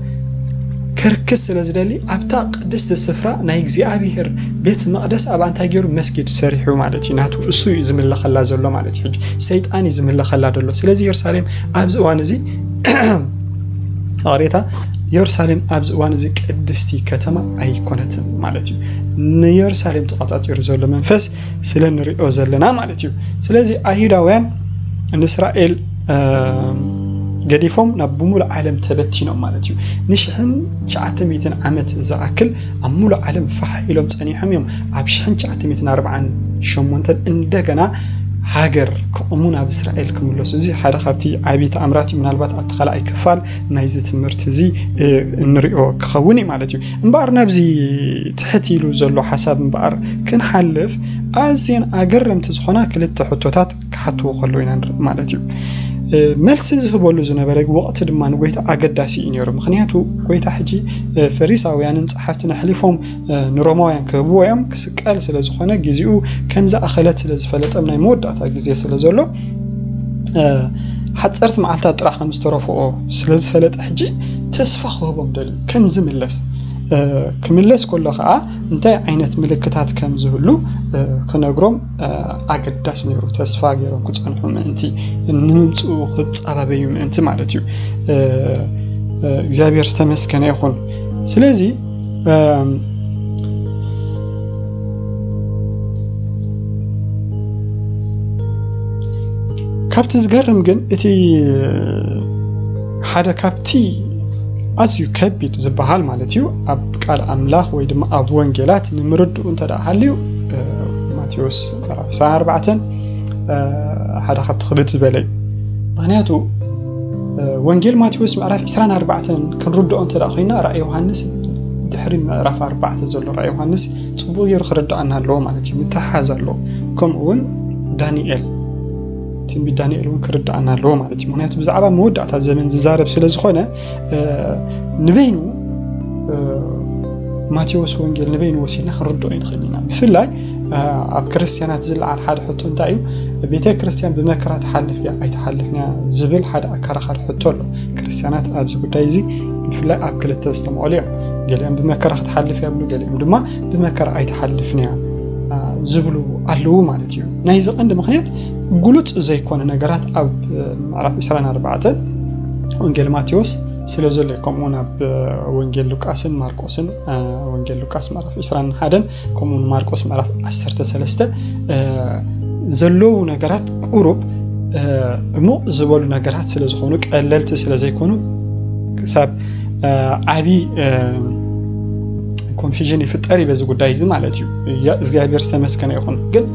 ከርክስ ስለ ዝደሊ ኣብታ ቅድስቲ ስፍራ ናይ እግዚኣብሔር ቤት መቕደስ ኣብ ኣንታይ ገይሩ መስጊድ ሰሪሑ ማለት እዩ። ናቱ እሱ እዩ ዝምለኸላ ዘሎ ማለት እዩ። ሕጂ ሰይጣን እዩ ዝምለኸላ ዘሎ። ስለዚ የሩሳሌም ኣብዚ እዋን እዚ ኣቕሬታ የሩሳሌም ኣብዚ እዋን እዚ ቅድስቲ ከተማ ኣይኮነትን ማለት እዩ። ንየሩሳሌም ተቋጻጺሩ ዘሎ መንፈስ ስለ ንሪኦ ዘለና ማለት እዩ። ስለዚ ኣይሁዳውያን ንእስራኤል ገዲፎም ናብ ብምሉእ ዓለም ተበቲኖም ማለት እዩ። ንሽሕን ትሽዓተ ሚእትን ዓመት ዝኣክል ኣብ ሙሉእ ዓለም ፋሕ ኢሎም ጸኒሖም እዮም። ኣብ ሽሕን ትሽዓተ ሚእትን ኣርባዓን ሸሞንተን እንደገና ሃገር ክቕሙ ናብ እስራኤል ክምለሱ። እዚ ሓደ ካብቲ ዓብዪ ተኣምራት እዩ። ምናልባት ኣብቲ ካልኣይ ክፋል ናይዚ ትምህርቲ እዚ እንሪኦ ክኸውን እዩ ማለት እዩ። እምበኣር ናብዚ ትሕት ኢሉ ዘሎ ሓሳብ እምበኣር ክንሓልፍ ኣዝየን ኣገረምቲ ዝኾና ክልተ ሕቶታት ክሓትዎ ከለዉ ኢና ንርኢ ማለት እዩ። መልሲ ዝህበሉ ዝነበረ ወቕቲ ድማ ንጎይታ ኣገዳሲ እዩ ነይሩ። ምኽንያቱ ጎይታ ሕጂ ፈሪሳውያንን ጸሓፍትን ኣሕሊፎም ንሮማውያን ክህብዎ እዮም። ክስቀል ስለ ዝኾነ ግዜኡ ከም ዝኣኸለት ስለ ዝፈለጠም ናይ መወዳእታ ግዜ ስለ ዘሎ ሓፀርቲ መዓልታት ጥራሕ ከም ዝተረፍኦ ስለ ዝፈለጠ ሕጂ ተስፋ ክህቦም ደልዩ ከም ዝምለስ ክምለስ ከሎ ከዓ እንታይ ዓይነት ምልክታት ከም ዝህሉ ክነግሮም ኣገዳሲ ነይሩ። ተስፋ ገይሮም ክፀንሑ ምእንቲ ንምምፅኡ ክፃባበዩ ምእንቲ ማለት እዩ። እግዚኣብሔር ዝተመስገነ ይኹን። ስለዚ ካብቲ ዝገርም ግን እቲ ሓደ ካብቲ ኣዝዩ ከቢድ ዝበሃል ማለት እዩ ኣብ ቃል ኣምላኽ ወይ ድማ ኣብ ወንጌላት ንምርድኡ እንተ ደኣ ሃልዩ ማቴዎስ ምዕራፍ ዕስራን ኣርባዕተን ሓደ ካብቲ ክብድ ዝበለ እዩ። ምክንያቱ ወንጌል ማቴዎስ ምዕራፍ ዕስራን ኣርባዕተን ክንርድኦ እንተ ደኣ ኮይና ራእይ ዮሃንስ ድሕሪ ምዕራፍ ኣርባዕተ ዘሎ ራእይ ዮሃንስ ጽቡቕ ገይሩ ክርድኣና ኣለዎ ማለት እዩ። ምትሓዝ ኣለዎ። ከምኡ እውን ዳንኤል ትንቢት ዳንኤል እውን ክርድኣና ኣለዎ ማለት እዩ። ምክንያቱ ብዛዕባ መወዳእታ ዘመን ዝዛረብ ስለ ዝኾነ ንበይኑ ማቴዎስ ወንጌል ንበይኑ ወሲድና ክንርድኦ ይንኽእል ኢና። ብፍላይ ኣብ ክርስትያናት ዝለዓል ሓደ ሕቶ እንታይ እዩ? ቤተ ክርስትያን ብመከራ ትሓልፍ እያ ኣይትሓልፍን እያ ዝብል ሓደ ኣከራኻሪ ሕቶ ኣሎ። ክርስትያናት ኣብዚ ጉዳይ እዚ ብፍላይ ኣብ ክልተ ዝተመቐሉ እዮም። ገሊኦም ብመከራ ክትሓልፍ እያ ይብሉ፣ ገሊኦም ድማ ብመከራ ኣይትሓልፍን እያ ዝብሉ ኣለዉ ማለት እዩ። ናይዚ ቀንዲ ምክንያት ግሉጽ ዘይኮነ ነገራት ኣብ ምዕራፍ ዕስራን ኣርባዕተን ወንጌል ማቴዎስ ስለ ዘሎ እዩ። ከምኡ እውን ኣብ ወንጌል ሉቃስን ማርቆስን ወንጌል ሉቃስ ምዕራፍ ዕስራን ሓደን ከምኡ እውን ማርቆስ ምዕራፍ ዓሰርተ ሰለስተ ዘለዉ ነገራት ቁሩብ ዕሙቕ ዝበሉ ነገራት ስለ ዝኾኑ ቀለልቲ ስለ ዘይኮኑ ክሳብ ዓቢ ኮንፊዥን ይፍጠር እዩ በዚ ጉዳይ እዚ ማለት እዩ። እግዚኣብሔር ዝተመስገነ ይኹን። ግን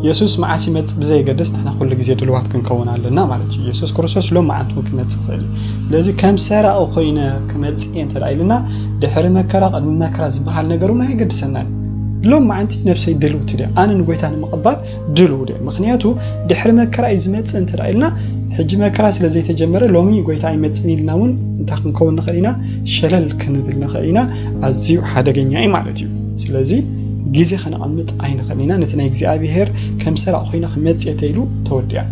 የሱስ መዓስ ይመጽእ ብዘየገድስ ንሕና ኩሉ ግዜ ድልዋት ክንከውን ኣለና ማለት እዩ። የሱስ ክርስቶስ ሎም መዓንቱ ክመጽእ ይኽእል እዩ። ስለዚ ከም ሰራቂ ኮይነ ክመጽእ እየ እንተ ኢልና ድሕሪ መከራ ቅድሚ መከራ ዝበሃል ነገር እውን ኣየገድሰናን። ሎም መዓንቲ ነብሰይ ድልውቲ ድያ ኣነ ንጎይታ ንምቕባል ድልው ድየ? ምክንያቱ ድሕሪ መከራ እዩ ዝመጽእ እንተ ኢልና ሕጂ መከራ ስለ ዘይተጀመረ ሎሚ ጎይታ ኣይመጽእን ኢልና እውን እንታይ ክንከውን ንኽእል ኢና? ሸለል ክንብል ንኽእል ኢና። ኣዝዩ ሓደገኛ እዩ ማለት እዩ። ስለዚ ግዜ ከነቐምጥ ኣይንኽእል ኢና። ነቲ ናይ እግዚኣብሔር ከም ሰራቕ ኮይና ክመጽእ ተይሉ ተወዲኣ።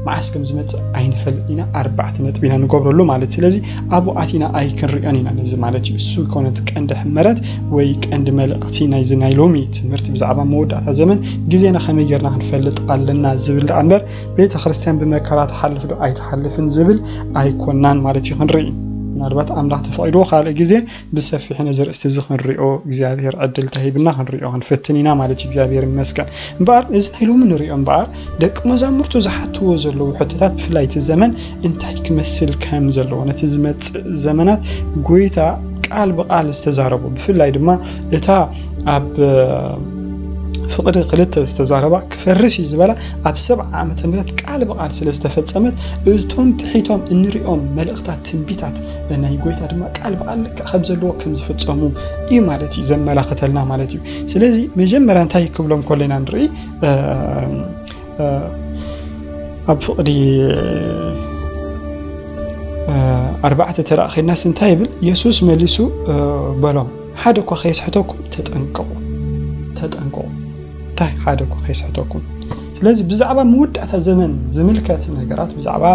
መዓስ ከም ዝመጽእ ኣይንፈልጥ ኢና። ኣርባዕተ ነጥቢ ኢና ንገብረሉ ማለት። ስለዚ ኣብኡ ኣቲና ኣይክንሪኦን ኢና ነዚ ማለት እዩ። እሱ ይኮነት ቀንዲ ሕመረት ወይ ቀንዲ መልእኽቲ ናይዚ ናይ ሎሚ ትምህርቲ ብዛዕባ መወዳእታ ዘመን ግዜና ከመይ ጌርና ክንፈልጥ ኣለና ዝብል ደኣ እምበር ቤተ ክርስቲያን ብመከራ ትሓልፍ ዶ ኣይትሓልፍን ዝብል ኣይኮናን ማለት እዩ ክንርኢ። ምናልባት ኣምላኽ ተፈቒድዎ ካልእ ግዜ ብሰፊሕ ነዚ ርእስቲ እዚ ክንሪኦ እግዚኣብሔር ዕድል ተሂብና ክንሪኦ ክንፍትን ኢና ማለት እዩ። እግዚኣብሔር ይመስገን። እምበኣር እዚ ናይ ሎሚ ንሪኦ እምበኣር ደቂ መዛሙርቱ ዝሓትዎ ዘለዉ ሕቶታት ብፍላይ እቲ ዘመን እንታይ ክመስል ከም ዘለዎ ነቲ ዝመጽእ ዘመናት ጎይታ ቃል ብቃል ዝተዛረቡ ብፍላይ ድማ እታ ኣብ ፍቕዲ ክልተ ዝተዛረባ ክፈርስ እዩ ዝበላ ኣብ ሰብዓ ዓመተ ምህረት ቃል ብቃል ስለ ዝተፈጸመት እቶም ትሒቶም እንሪኦም መልእኽታት ትንቢታት ናይ ጎይታ ድማ ቃል ብቃል ልክዕ ከም ዘለዎ ከም ዝፍጸሙ እዩ ማለት እዩ ዘመላኽተልና ማለት እዩ። ስለዚ መጀመርያ እንታይ ክብሎም ከለና ንርኢ ኣብ ፍቕዲ ኣርባዕተ ተራእኺናስ እንታይ ይብል? የሱስ መሊሱ በሎም ሓደ እኳ ከየስሕተኩም ተጠንቀቑ። ተጠንቀቑ። እንታይ ሓደ እኳ ከየስሕተኩም። ስለዚ ብዛዕባ መወዳእታ ዘመን ዝምልከት ነገራት ብዛዕባ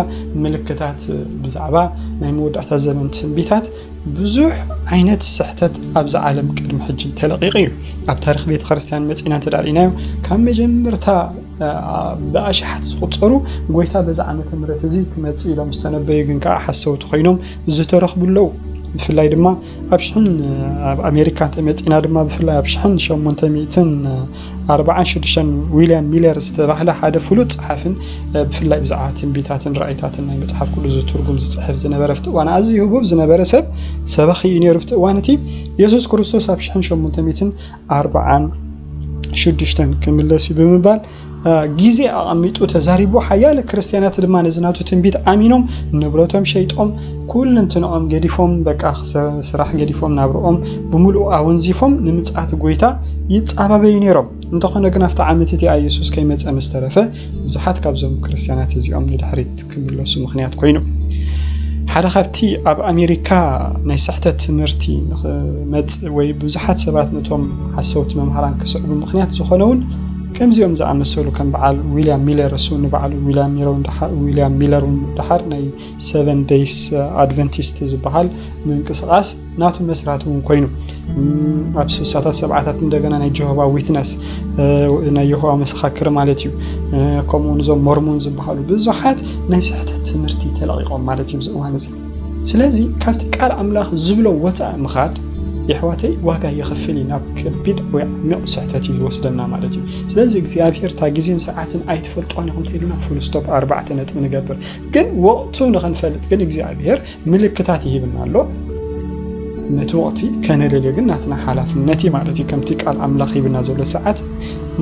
ምልክታት ብዛዕባ ናይ መወዳእታ ዘመን ትንቢታት ብዙሕ ዓይነት ስሕተት ኣብዚ ዓለም ቅድሚ ሕጂ ተለቂቑ እዩ። ኣብ ታሪክ ቤተ ክርስቲያን መፂና እንተ ርኢናዮ ካብ መጀመርታ ብኣሽሓት ዝቁፀሩ ጎይታ በዚ ዓመተ ምህረት እዚ ክመፅእ ኢሎም ዝተነበዩ ግን ከዓ ሓሰውቲ ኮይኖም ዝተረኽቡ ኣለዉ። ብፍላይ ድማ ኣብ ሽሕን ኣብ ኣሜሪካ እንተመፂና ድማ ብፍላይ ኣብ ሽሕን ሸሞንተ ሚእትን ኣርባዓን ሽዱሽተን ዊልያም ሚለር ዝተባህለ ሓደ ፍሉጥ ጸሓፍን ብፍላይ ብዛዕባ ትንቢታትን ራእይታትን ናይ መጽሓፍ ቅዱስ ዝትርጉም ዝጽሕፍ ዝነበረ ኣብቲ እዋን ኣዝዩ ህቡብ ዝነበረ ሰብ ሰባኺ እዩ ነይሩ። ኣብቲ እዋን እቲ የሱስ ክርስቶስ ኣብ ሽሕን ሸሞንተ ሚእትን ኣርባዓን ሽዱሽተን ክምለስ እዩ ብምባል ግዜ ኣቐሚጡ ተዛሪቡ። ሓያለ ክርስትያናት ድማ ነዚ ናቱ ትንቢት ኣሚኖም ንብረቶም ሸይጦም ኩልንትንኦም ገዲፎም በቃ ስራሕ ገዲፎም ናብርኦም ብምሉኡ ኣወንዚፎም ንምጽኣት ጎይታ ይጻባበዩ ነይሮም። እንተኾነ ግን ኣብቲ ዓመት እቲኣ የሱስ ከይመጸ ምስ ተረፈ ብዙሓት ካብዞም ክርስትያናት እዚኦም ንድሕሪት ክምለሱ ምኽንያት ኮይኑ። ሓደ ካብቲ ኣብ ኣሜሪካ ናይ ስሕተት ትምህርቲ ንኽመጽእ ወይ ብዙሓት ሰባት ነቶም ሓሰውቲ መምሃራን ክስዕቡ ምኽንያት ዝኾነ እውን ከምዚኦም ዝኣመሰሉ ከም በዓል ዊልያም ሚለር እሱ ንበዓሉ ዊልያም ሚለር እውን ደሓር ናይ ሰቨን ደይስ ኣድቨንቲስት ዝበሃል ምንቅስቃስ ናቱ መስራቲ እውን ኮይኑ ኣብ ስሳታት ሰብዓታት እንደገና ናይ ጀሆባ ዊትነስ ናይ የሆዋ መሰኻክር ማለት እዩ። ከምኡ እውን እዞም ሞርሞን ዝበሃሉ ብዙሓት ናይ ስሕተት ትምህርቲ ተለቂቆም ማለት እዩ ኣብዚ እዋን እዚ። ስለዚ ካብቲ ቃል ኣምላኽ ዝብሎ ወፃእ ምኻድ የሕዋተይ ዋጋ የኽፍል እዩ፣ ናብ ከቢድ ወይ ዓሚቕ ስሕተት እዩ ዝወስደና ማለት እዩ። ስለዚ እግዚኣብሔር እታ ግዜን ሰዓትን ኣይትፈልጥዋን ኢኹም ተይልና ፉል ስቶፕ ኣርባዕተ ነጥቢ ንገብር። ግን ወቕቱ ንኽንፈልጥ ግን እግዚኣብሔር ምልክታት ይህብና ኣሎ። ነቲ ወቕቲ ከነለልዮ ግን ናትና ሓላፍነት እዩ ማለት እዩ። ከምቲ ቃል ኣምላኽ ሂብና ዘሎ ሰዓት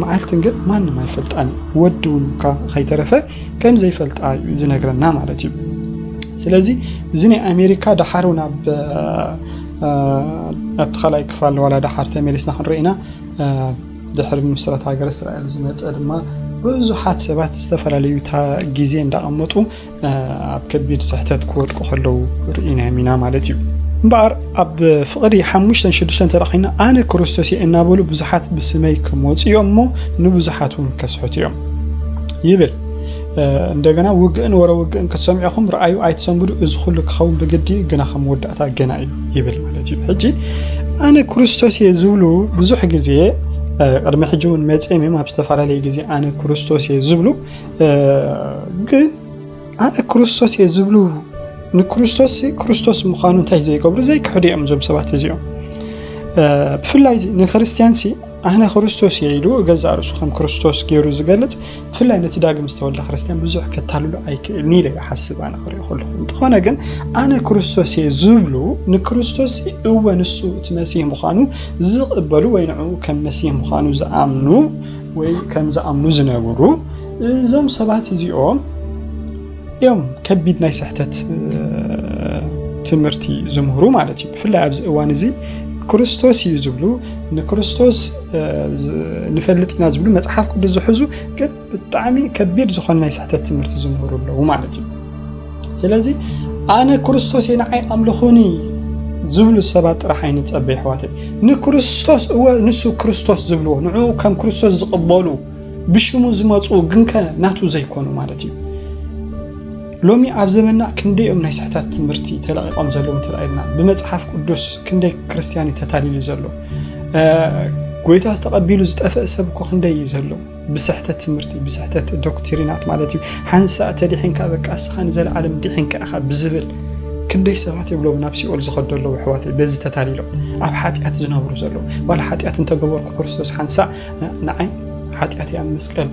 መዓልትን ግን ማንም ኣይፈልጣን እዩ። ወዲ እውን እኳ ከይተረፈ ከም ዘይፈልጣ እዩ ዝነግረና ማለት እዩ። ስለዚ እዚ ናይ ኣሜሪካ ደሓር እውን ኣብ ኣብቲ ካልኣይ ክፋል ዋላ ደሓር ተመሊስና ክንርኢና ድሕሪ ምስረት ሃገር እስራኤል ዝመፀ ድማ ብዙሓት ሰባት ዝተፈላለዩ ግዜ እንዳቐመጡ ኣብ ከቢድ ስሕተት ክወድቁ ከለዉ ርኢናዮም ኢና ማለት እዩ። እምበኣር ኣብ ፍቕዲ ሓሙሽተን ሽዱሽተን ተረኺና ኣነ ክርስቶስ እየ እናበሉ ብዙሓት ብስመይ ክመፁ እዮም እሞ ንብዙሓት እውን ከስሕቱ እዮም ይብል። እንደገና ውግእን ወረ ውግእን ክትሰምዑ ኢኹም፣ ረኣዩ ኣይትሰንብዱ፣ እዚ ኩሉ ክኸውን ብግዲ እዩ፣ ግና ከም መወዳእታ ገና እዩ ይብል ማለት እዩ። ሕጂ ኣነ ክርስቶስ እየ ዝብሉ ብዙሕ ግዜ ቅድሚ ሕጂ እውን መፅኦም እዮም ኣብ ዝተፈላለየ ግዜ ኣነ ክርስቶስ እየ ዝብሉ ግን ኣነ ክርስቶስ እየ ዝብሉ ንክርስቶስ ክርስቶስ ምዃኑ እንታይ ዘይገብሩ ዘይክሕዱ እዮም እዞም ሰባት እዚኦም። ብፍላይ ንክርስትያን ሲ ኣነ ክርስቶስ እየ ኢሉ ገዛእ ርእሱ ከም ክርስቶስ ገይሩ ዝገልጽ ብፍላይ ነቲ ዳግም ዝተወልደ ክርስትያን ብዙሕ ከታልሉ ኣይክእልን ኢለ ይሓስብ ኣነ ክሪኦ ከለኹ። እንተኾነ ግን ኣነ ክርስቶስ እየ ዝብሉ ንክርስቶስ እወ ንሱ እቲ መሲህ ምዃኑ ዝቕበሉ ወይ ንዕኡ ከም መሲህ ምዃኑ ዝኣምኑ ወይ ከም ዝኣምኑ ዝነብሩ እዞም ሰባት እዚኦም እዮም ከቢድ ናይ ስሕተት ትምህርቲ ዝምህሩ ማለት እዩ። ብፍላይ ኣብዚ እዋን እዚ ክርስቶስ እዩ ዝብሉ ንክርስቶስ ንፈልጥ ኢና ዝብሉ መፅሓፍ ቅዱስ ዝሕዙ ግን ብጣዕሚ ከቢድ ዝኾነ ናይ ስሕተት ትምህርቲ ዝምህሩ ኣለዉ ማለት እዩ። ስለዚ ኣነ ክርስቶስ እየ ንዓይ ኣምልኹኒ ዝብሉ ሰባት ጥራሕ ኣይንፀበ ኣሕዋተይ። ንክርስቶስ እወ ንሱ ክርስቶስ ዝብልዎ ንዕኡ ከም ክርስቶስ ዝቕበሉ ብሽሙ ዝመፁ ግንከ ናቱ ዘይኮኑ ማለት እዩ። ሎሚ ኣብ ዘመንና ክንደይ እዮም ናይ ስሕተት ትምህርቲ ተለቒቖም ዘለዉ እንተ ኢልና ብመፅሓፍ ቅዱስ ክንደይ ክርስትያን እዩ ተታሊሉ ዘሎ። ጎይታ ዝተቐቢሉ ዝጠፍአ ሰብ እኮ ክንደይ እዩ ዘሎ ብስሕተት ትምህርቲ ብስሕተት ዶክትሪናት ማለት እዩ። ሓንሳእ ተዲሒንካ በቃ እስኻ ንዘለዓለም ዲሒንካ ኢኻ ብዝብል ክንደይ ሰባት የብሎም ናብ ሲኦል ዝኸዱ ኣለዉ ኣሕዋተይ፣ በዚ ተታሊሎም ኣብ ሓጢኣት ዝነብሩ ዘለዉ። ዋላ ሓጢኣት እንተገበርኩ ክርስቶስ ሓንሳእ ንዓይ ሓጢኣተይ ኣብ መስቀል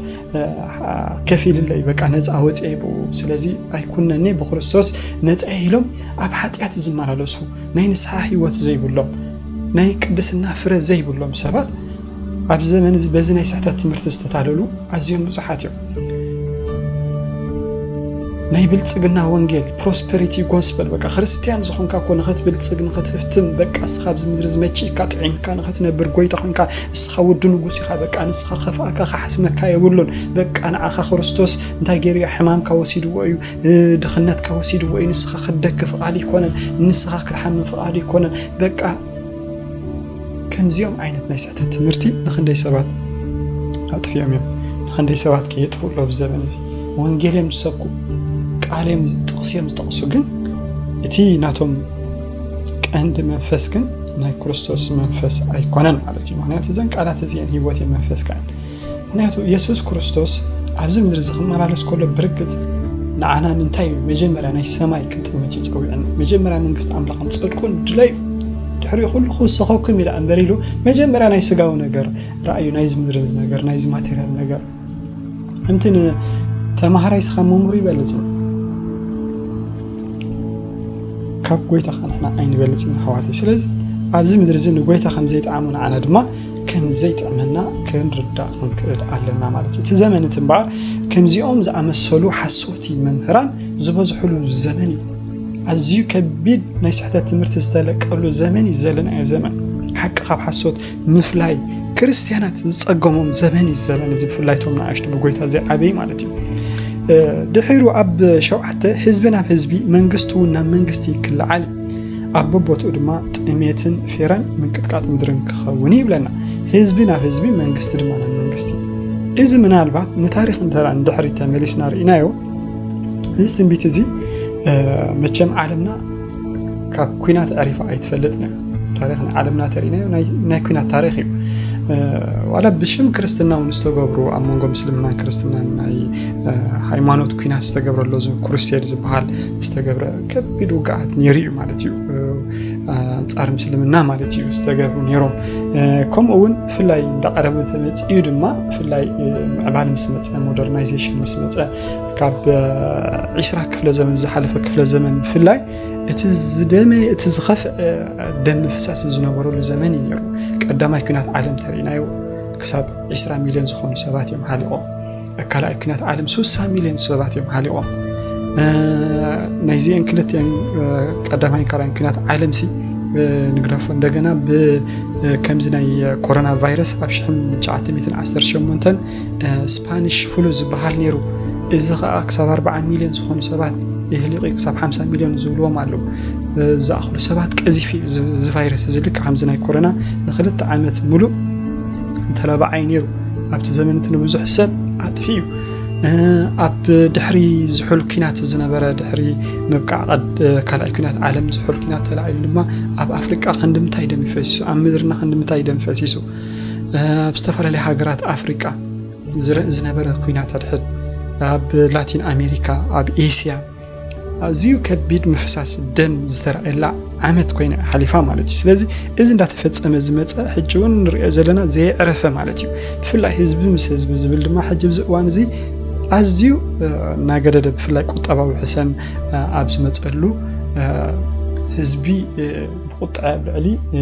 ከፊልለይ፣ በቃ ነፃ ወፅኤ ብኡ፣ ስለዚ ኣይኩነኒ ብክርስቶስ ነፃ ኢሎም ኣብ ሓጢኣት ዝመላለሱ፣ ናይ ንስሓ ህይወት ዘይብሎም፣ ናይ ቅድስና ፍረ ዘይብሎም ሰባት ኣብዚ ዘመን እዚ በዚ ናይ ስሕተት ትምህርቲ ዝተታለሉ ኣዝዮም ብዙሓት እዮም። ናይ ብልጽግና ወንጌል፣ prosperity gospel፣ በቃ ክርስትያን ዝኾንካ እኮ ንኽትብልጽግ ንኽትህፍትም፣ በቃ እስኻ ኣብዚ ምድሪ ዝመችእካ ጥዒምካ ንኽትነብር ጎይታ ኾንካ፣ እስኻ ወዲ ንጉስ ኢኻ፣ በቃ ንስኻ ከፍኣካ ክሓስመካ የብሉን፣ በቃ ንዓኻ ክርስቶስ እንታይ ገይሩ እዩ? ሕማምካ ወሲድዎ እዩ፣ ድኽነትካ ወሲድዎ እዩ፣ ንስኻ ክትደክ ፍቓድ ይኮነን፣ ንስኻ ክትሓምም ፍቓድ ይኮነን። በቃ ከምዚኦም ዓይነት ናይ ስሕተት ትምህርቲ ንኽንደይ ሰባት ኣጥፊኦም እዮም። ንኽንደይ ሰባት ከየጥፍኡ ኣሎ ኣብዚ ዘመን እዚ። ወንጌል እዮም ዝሰብኩ፣ ቃል እዮም፣ ጥቕሲ እዮም ዝጠቕሱ፣ ግን እቲ ናቶም ቀንዲ መንፈስ ግን ናይ ክርስቶስ መንፈስ ኣይኮነን ማለት እዩ። ምኽንያቱ እዘን ቃላት እዚአን ህይወት እየን፣ መንፈስ ከኣን። ምኽንያቱ የሱስ ክርስቶስ ኣብዚ ምድሪ እዚ ክመላለስ ከሎ ብርግጽ ንዓና ንምንታይ እዩ መጀመርያ ናይ ሰማይ ክንጥምት እዩ ጸዊዕና? መጀመርያ መንግስቲ ኣምላኽን ጽድቁን ድለዩ፣ ድሕሪኡ ኩሉ ክውሰኸኩም ኢላ እምበር ኢሉ መጀመርያ ናይ ስጋዊ ነገር ረኣዩ፣ ናይዚ ምድሪ እዚ ነገር፣ ናይዚ ማቴርያል ነገር። ከምቲ ንተማሃራይ ስኻ መምህሩ ይበልጽ እዩ። ካብ ጎይታ ኸዓ ንሕና ኣይንበልጽ ኢና ኣሕዋተይ። ስለዚ ኣብዚ ምድሪ እዚ ንጎይታ ከም ዘይጠዓሞ ንዓና ድማ ከም ዘይጥዕመና ክንርዳእ ክንክእል ኣለና ማለት እዩ። እቲ ዘመን እቲ እምበኣር ከምዚኦም ዝኣመሰሉ ሓሰውቲ መምህራን ዝበዝሕሉ ዘመን እዩ። ኣዝዩ ከቢድ ናይ ስሕተት ትምህርቲ ዝተለቀሉ ዘመን እዩ ዘለናዮ ዘመን። ሓቂ ካብ ሓሶት ምፍላይ ክርስትያናት ዝጸገሞም ዘመን እዩ ዘመን እዚ፣ ብፍላይ እቶም ንኣሽቱ ብጎይታ ዘይዓበዩ ማለት እዩ። እ፣ ድሒሩ ኣብ ሸውዓተ፣ ህዝቢ ናብ ህዝቢ፣ መንግስቲ እውን ናብ መንግስቲ ክለዓል፣ ኣብ በቦትኡ ድማ ጥሜትን ፌረን ምንቅጥቃጥ ምድርን ክኸውን እዩ ይብለና። ህዝቢ ናብ ህዝቢ፣ መንግስቲ ድማ ናብ መንግስቲ። እዚ ምናልባት ንታሪኽ እንተ ንድሕሪት ተመሊስና ርኢናዮ፣ እዚ ትንቢት እዚ፣ እ፣ መቸም ዓለምና ካብ ኲናት ዕሪፋ ኣይትፈልጥን እያ። ታሪኽ ናይ ዓለምና ተሪእናዮ ናይ፣ ናይ ኲናት ታሪኽ እዩ። እ፣ ዋላ ብሽም ክርስትና እውን ዝተገብሩ፣ ኣብ መንጎ ምስልምናን ክርስትናን ናይ፣ እ፣ ሃይማኖት ኲናት ዝተገብረሉ፣ እዚ ክሩሴድ ዝበሃል ዝተገብረ ከቢድ ውግኣት ነይሩ እዩ ማለት እዩ። እ፣ ኣንጻር ምስልምና ማለት እዩ ዝተገብሩ ነይሮም። እ፣ ከምኡ እውን ብፍላይ እንዳቐረበ ተመጺኡ ድማ፣ ብፍላይ፣ እ፣ ምዕባለ ምስ መጸ፣ ሞደርናይዜሽን ምስ መጸ፣ ካብ፣ እ፣ ዒስራ ክፍለ ዘመን፣ ዝሓለፈ ክፍለ ዘመን ብፍላይ እቲ ዝደመ፣ እቲ ዝኸፍአ ደም ምፍሳስ ዝነበረሉ ዘመን እዩ ነይሩ። ቀዳማይ ኲናት ዓለም ተሪእናዮ፣ ክሳብ ዒስራ ሚልዮን ዝኾኑ ሰባት እዮም ሃሊቖም። ካልኣይ ኲናት ዓለም ስሳ ሚልዮን ሰባት እዮም ሃሊቖም። እ፣ ናይዚአን ክልቲአን፣ እ፣ ቀዳማይን ካልኣይን ኲናት ዓለምሲ፣ እ፣ ንግደፎ። እንደገና ብ፣ እ፣ ከምዚ ናይ ኮሮና ቫይረስ ኣብ ሽሕን ትሽዓተ ሚእትን ዓሰርተ ሸሞንተን፣ እ፣ ስፓኒሽ ፍሉ ዝበሃል ነይሩ። እዚ ኸኣ ክሳብ ኣርብዓ ሚልዮን ዝኾኑ ሰባት የህሊቑ፣ ክሳብ ሓምሳ ሚልዮን ዝብልዎም ኣለዉ። እ፣ ዝኣኽሉ ሰባት ቀዚፉ እዩ እዚ፣ እዚ ቫይረስ እዚ፣ ልክዕ ከምዚ ናይ ኮሮና ንኽልተ ዓመት ሙሉእ ተላባዓይ ነይሩ። ኣብቲ ዘመን እቲ ንብዙሕ ሰብ ኣጥፊኡ እዩ። እ፣ ኣብ ድሕሪ ዝሑል ኲናት ዝነበረ፣ ድሕሪ ምብቃዕ ቀድ-፣ ካልኣይ ኲናት ዓለም ዝሑል ኲናት ተላዒሉ ድማ ኣብ ኣፍሪቃ ክንድምታይ ደም እዩ ፈሲሱ፣ ኣብ ምድርና ክንድምታይ ደም ፈሲሱ። እ፣ ኣብ ዝተፈላለያ ሃገራት ኣፍሪቃ ዝረ-፣ ዝነበረ ኲናት ኣድሕድ፣ ኣብ ላቲን ኣሜሪካ፣ ኣብ ኤስያ ኣዝዩ ከቢድ ምፍሳስ ደም ዝተራእየላ ዓመት ኮይና ሓሊፋ ማለት እዩ። ስለዚ እዚ እንዳተፈጸመ ዝመጸ ሕጂ እውን ንሪኦ ዘለና ዘየዕረፈ ማለት እዩ። ብፍላይ ህዝቢ ምስ ህዝቢ ዝብል ድማ ሕጂ ኣብዚ እዋን እዚ ኣዝዩ፣ እ፣ እናገደደ፣ ብፍላይ ቁጠባዊ ሕሰም፣ እ፣ ኣብ ዝመጸሉ፣ እ፣ ህዝቢ፣ እ፣ ብቁጥዐ ኣብ ልዕሊ፣ እ፣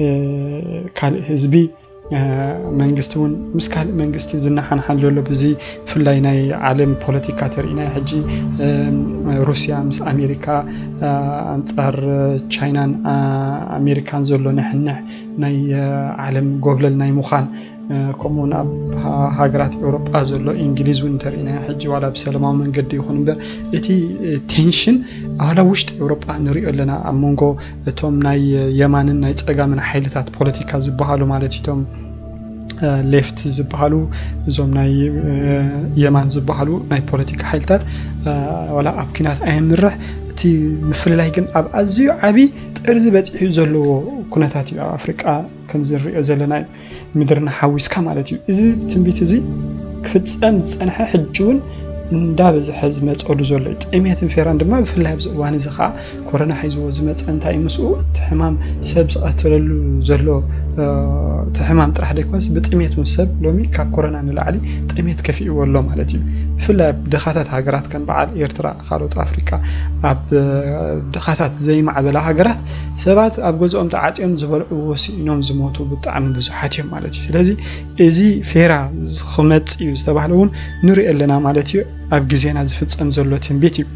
እ፣ ካልእ ህዝቢ እ፣ መንግስቲ እውን ምስ ካልእ መንግስቲ ዝነሓንሓን ዘሎ፣ ብዚ ብፍላይ ናይ ዓለም ፖለቲካ ተሪእና ሕጂ፣ እ፣ ሩስያ ምስ ኣሜሪካ፣ እ፣ ኣንጻር ቻይናን፣ እ፣ ኣሜሪካን ዘሎ ንሕንሕ፣ ናይ፣ እ፣ ዓለም ጎብለል ናይ ምዃን፣ እ፣ ከምኡውን ኣብ ሃ-፣ ሃገራት ኤውሮጳ ዘሎ፣ እንግሊዝ እውን እንተሪእና ሕጂ ዋላ ብሰላማዊ መንገዲ ይኹን እምበር እቲ፣ እ፣ ቴንሽን ዋላ ውሽጢ ኤውሮጳ ንሪኦ ኣለና። ኣብ መንጎ እቶም ናይ የማንን ናይ ጸጋምን ሓይልታት ፖለቲካ ዝበሃሉ ማለት እዩ፣ እቶም፣ እ፣ ሌፍት ዝበሃሉ፣ እዞም ናይ፣ እ፣ የማን ዝበሃሉ ናይ ፖለቲካ ሓይልታት፣ እ፣ ዋላ ኣብ ኲናት ኣየምርሕ፣ እቲ ምፍልላይ ግን ኣብ ኣዝዩ ዓቢ ጥርዚ በጺሑ ዘለዎ ኩነታት እዩ። ኣብ ኣፍሪቃ ከምዚ ንሪኦ ዘለና እዩ፣ ምድርና ሓዊስካ ማለት እዩ። እዚ ትንቢት እዚ ክፍጸም ዝጸንሐ ሕጂ እውን እንዳበዝሐ ዝመፀሉ ዘሎ እዩ። ጥሜትን ፌራን ድማ ብፍላይ ኣብዚ እዋን እዚ ከዓ ኮሮና ሒዝዎ ዝመፀ እንታይ ምስኡ እቲ ሕማም ሰብ ዝቐተለሉ ዘሎ እቲ ሕማም ጥራሕ ዘይኮነስ ብጥሜት እውን ሰብ ሎሚ ካብ ኮሮና ንላዕሊ ጥሜት ከፊእዎ ኣሎ ማለት እዩ። ብፍላይ ኣብ ድኻታት ሃገራት ከም በዓል ኤርትራ፣ ካልኦት ኣፍሪቃ፣ ኣብ ድኻታት ዘይማዕበላ ሃገራት ሰባት ኣብ ገዝኦም ተዓፅዮም ዝበልዕዎ ስኢኖም ዝሞቱ ብጣዕሚ ብዙሓት እዮም ማለት እዩ። ስለዚ እዚ ፌራ ክመፅእ እዩ ዝተባህለ እውን ንሪኦ ኣለና ማለት እዩ። ኣብ ግዜና ዝፍፀም ዘሎ ትንቢት እዩ።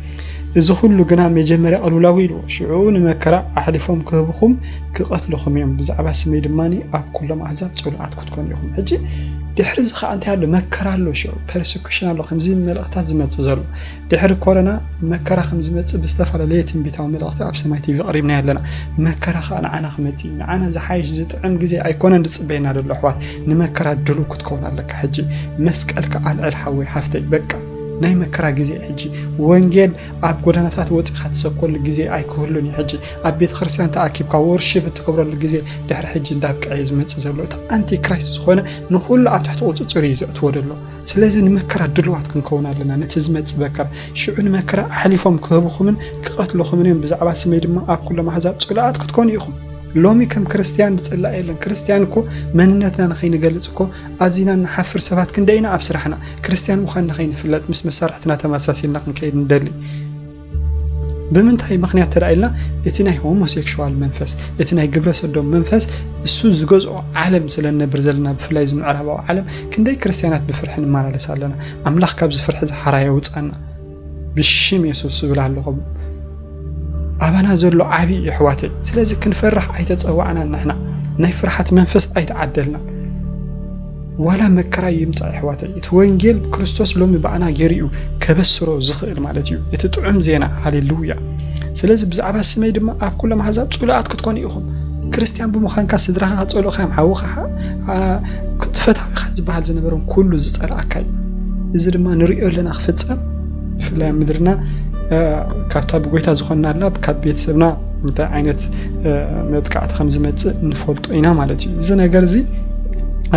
እዚ ኩሉ ግና መጀመርያ ቅልውላው ኢሉ ሽዑ ንመከራ ኣሕሊፎም ክህብኹም ክቐትልኹም እዮም፣ ብዛዕባ ስመይ ድማ ኣብ ኩሎም ኣህዛብ ፅሉኣት ክትኮኑ ኢኹም። ሕጂ ድሕሪ እዚ ከዓ እንታይ ኣሎ? መከራ ኣሎ፣ ሽዑ ፐርሰኩሽን ኣሎ። ከምዚ መልእኽታት ዝመፅእ ዘሎ ድሕሪ ኮረና መከራ ከም ዝመፅእ ብዝተፈላለየ ትንቢታዊ መልእኽቲ ኣብ ሰማይ ቲቪ ቀሪብና ኣለና። መከራ ከዓ ንዓና ክመፅእ እዩ። ንዓና ዝሓይሽ ዝጥዕም ግዜ ኣይኮነን ዝፅበየና ዘሎ ኣሕዋት። ንመከራ ድሉው ክትከውን ኣለካ። ሕጂ መስቀልካ ኣልዕል ሓወይ ሓፍተይ፣ በቃ ናይ መከራ ግዜ እዩ። ሕጂ ወንጌል ኣብ ጎደናታት ወፂኻ ትሰብከሉ ግዜ ኣይክህሉን እዩ። ሕጂ ኣብ ቤተ ክርስቲያን ተኣኪብካ ወርሺፕ እትገብረሉ ግዜ ድሕሪ ሕጂ እንዳብቅዐ እዩ ዝመፅእ ዘሎ። እቲ ኣንቲክራይስት ዝኾነ ንኩሉ ኣብ ትሕቲ ቁፅፅር እዩ ዘእትዎ ዘሎ። ስለዚ ንመከራ ድልዋት ክንከውን ኣለና። ነቲ ዝመፅእ መከራ ሽዑ ንመከራ ኣሕሊፎም ክህብኹምን ክቐትልኹምን እዮም፣ ብዛዕባ ስመይ ድማ ኣብ ኩሎም ኣህዛብ ፅሉኣት ክትኮኑ ኢኹም። ሎሚ ከም ክርስትያን ዝፅላእ የለን። ክርስትያን እኮ መንነትና ንኸይንገልፅ እኮ ኣዚና ንሓፍር ሰባት ክንደይ ኢና ኣብ ስራሕና። ክርስትያን ምዃንና ከይንፍለጥ ምስ መሳርሕትና ተመሳሲልና ክንከይድ ንደሊ። ብምንታይ ምኽንያት ተዳ ኢልና፣ እቲ ናይ ሆሞሴክሹዋል መንፈስ፣ እቲ ናይ ግብረ ሰዶም መንፈስ እሱ ዝገዝኦ ዓለም ስለ ንነብር ዘለና፣ ብፍላይ እዚ ምዕራባዊ ዓለም ክንደይ ክርስትያናት ብፍርሒ ንመላለስ ኣለና። ኣምላኽ ካብዚ ፍርሒ እዚ ሓራ የውፃና። ብሽም የሱስ እብል ኣለኹም። ኣባና ዘሎ ዓብዪ እዩ ኣሕዋተይ። ስለዚ ክንፈርሕ ኣይተፀዋዕናን ንሕና። ናይ ፍርሓት መንፈስ ኣይተዓደልናን። ዋላ መከራ ይምፃእ ኣሕዋተይ፣ እቲ ወንጌል ክርስቶስ ሎሚ ብኣና ገይሩ እዩ ከበስሮ ዝኽእል ማለት እዩ። እቲ ጥዑም ዜና፣ ሃሌሉያ። ስለዚ ብዛዕባ ስመይ ድማ ኣብ ኩሎም ኣሕዛብ ጽሉኣት ክትኮኑ ኢኹም። ክርስትያን ብምዃንካ ስድራኻ ከጸልኡኻ እዮም፣ ሓውኻ ሓ-፣ ኣ-፣ ፈታዊኻ ዝበሃል ዝነበሮም ኩሉ ዝጸልኣካ እዩ። እዚ ድማ ንርእዮ ኣለና ክፍጸም። ብፍላይ ኣብ ምድርና፣ እ፣ ካብታ ብጎይታ ዝኾንናላ፣ ካብ ቤተሰብና እንታይ ዓይነት፣ እ፣ መጥቃዕቲ ከም ዝመጽእ ንፈልጦ ኢና ማለት እዩ። እዚ ነገር እዚ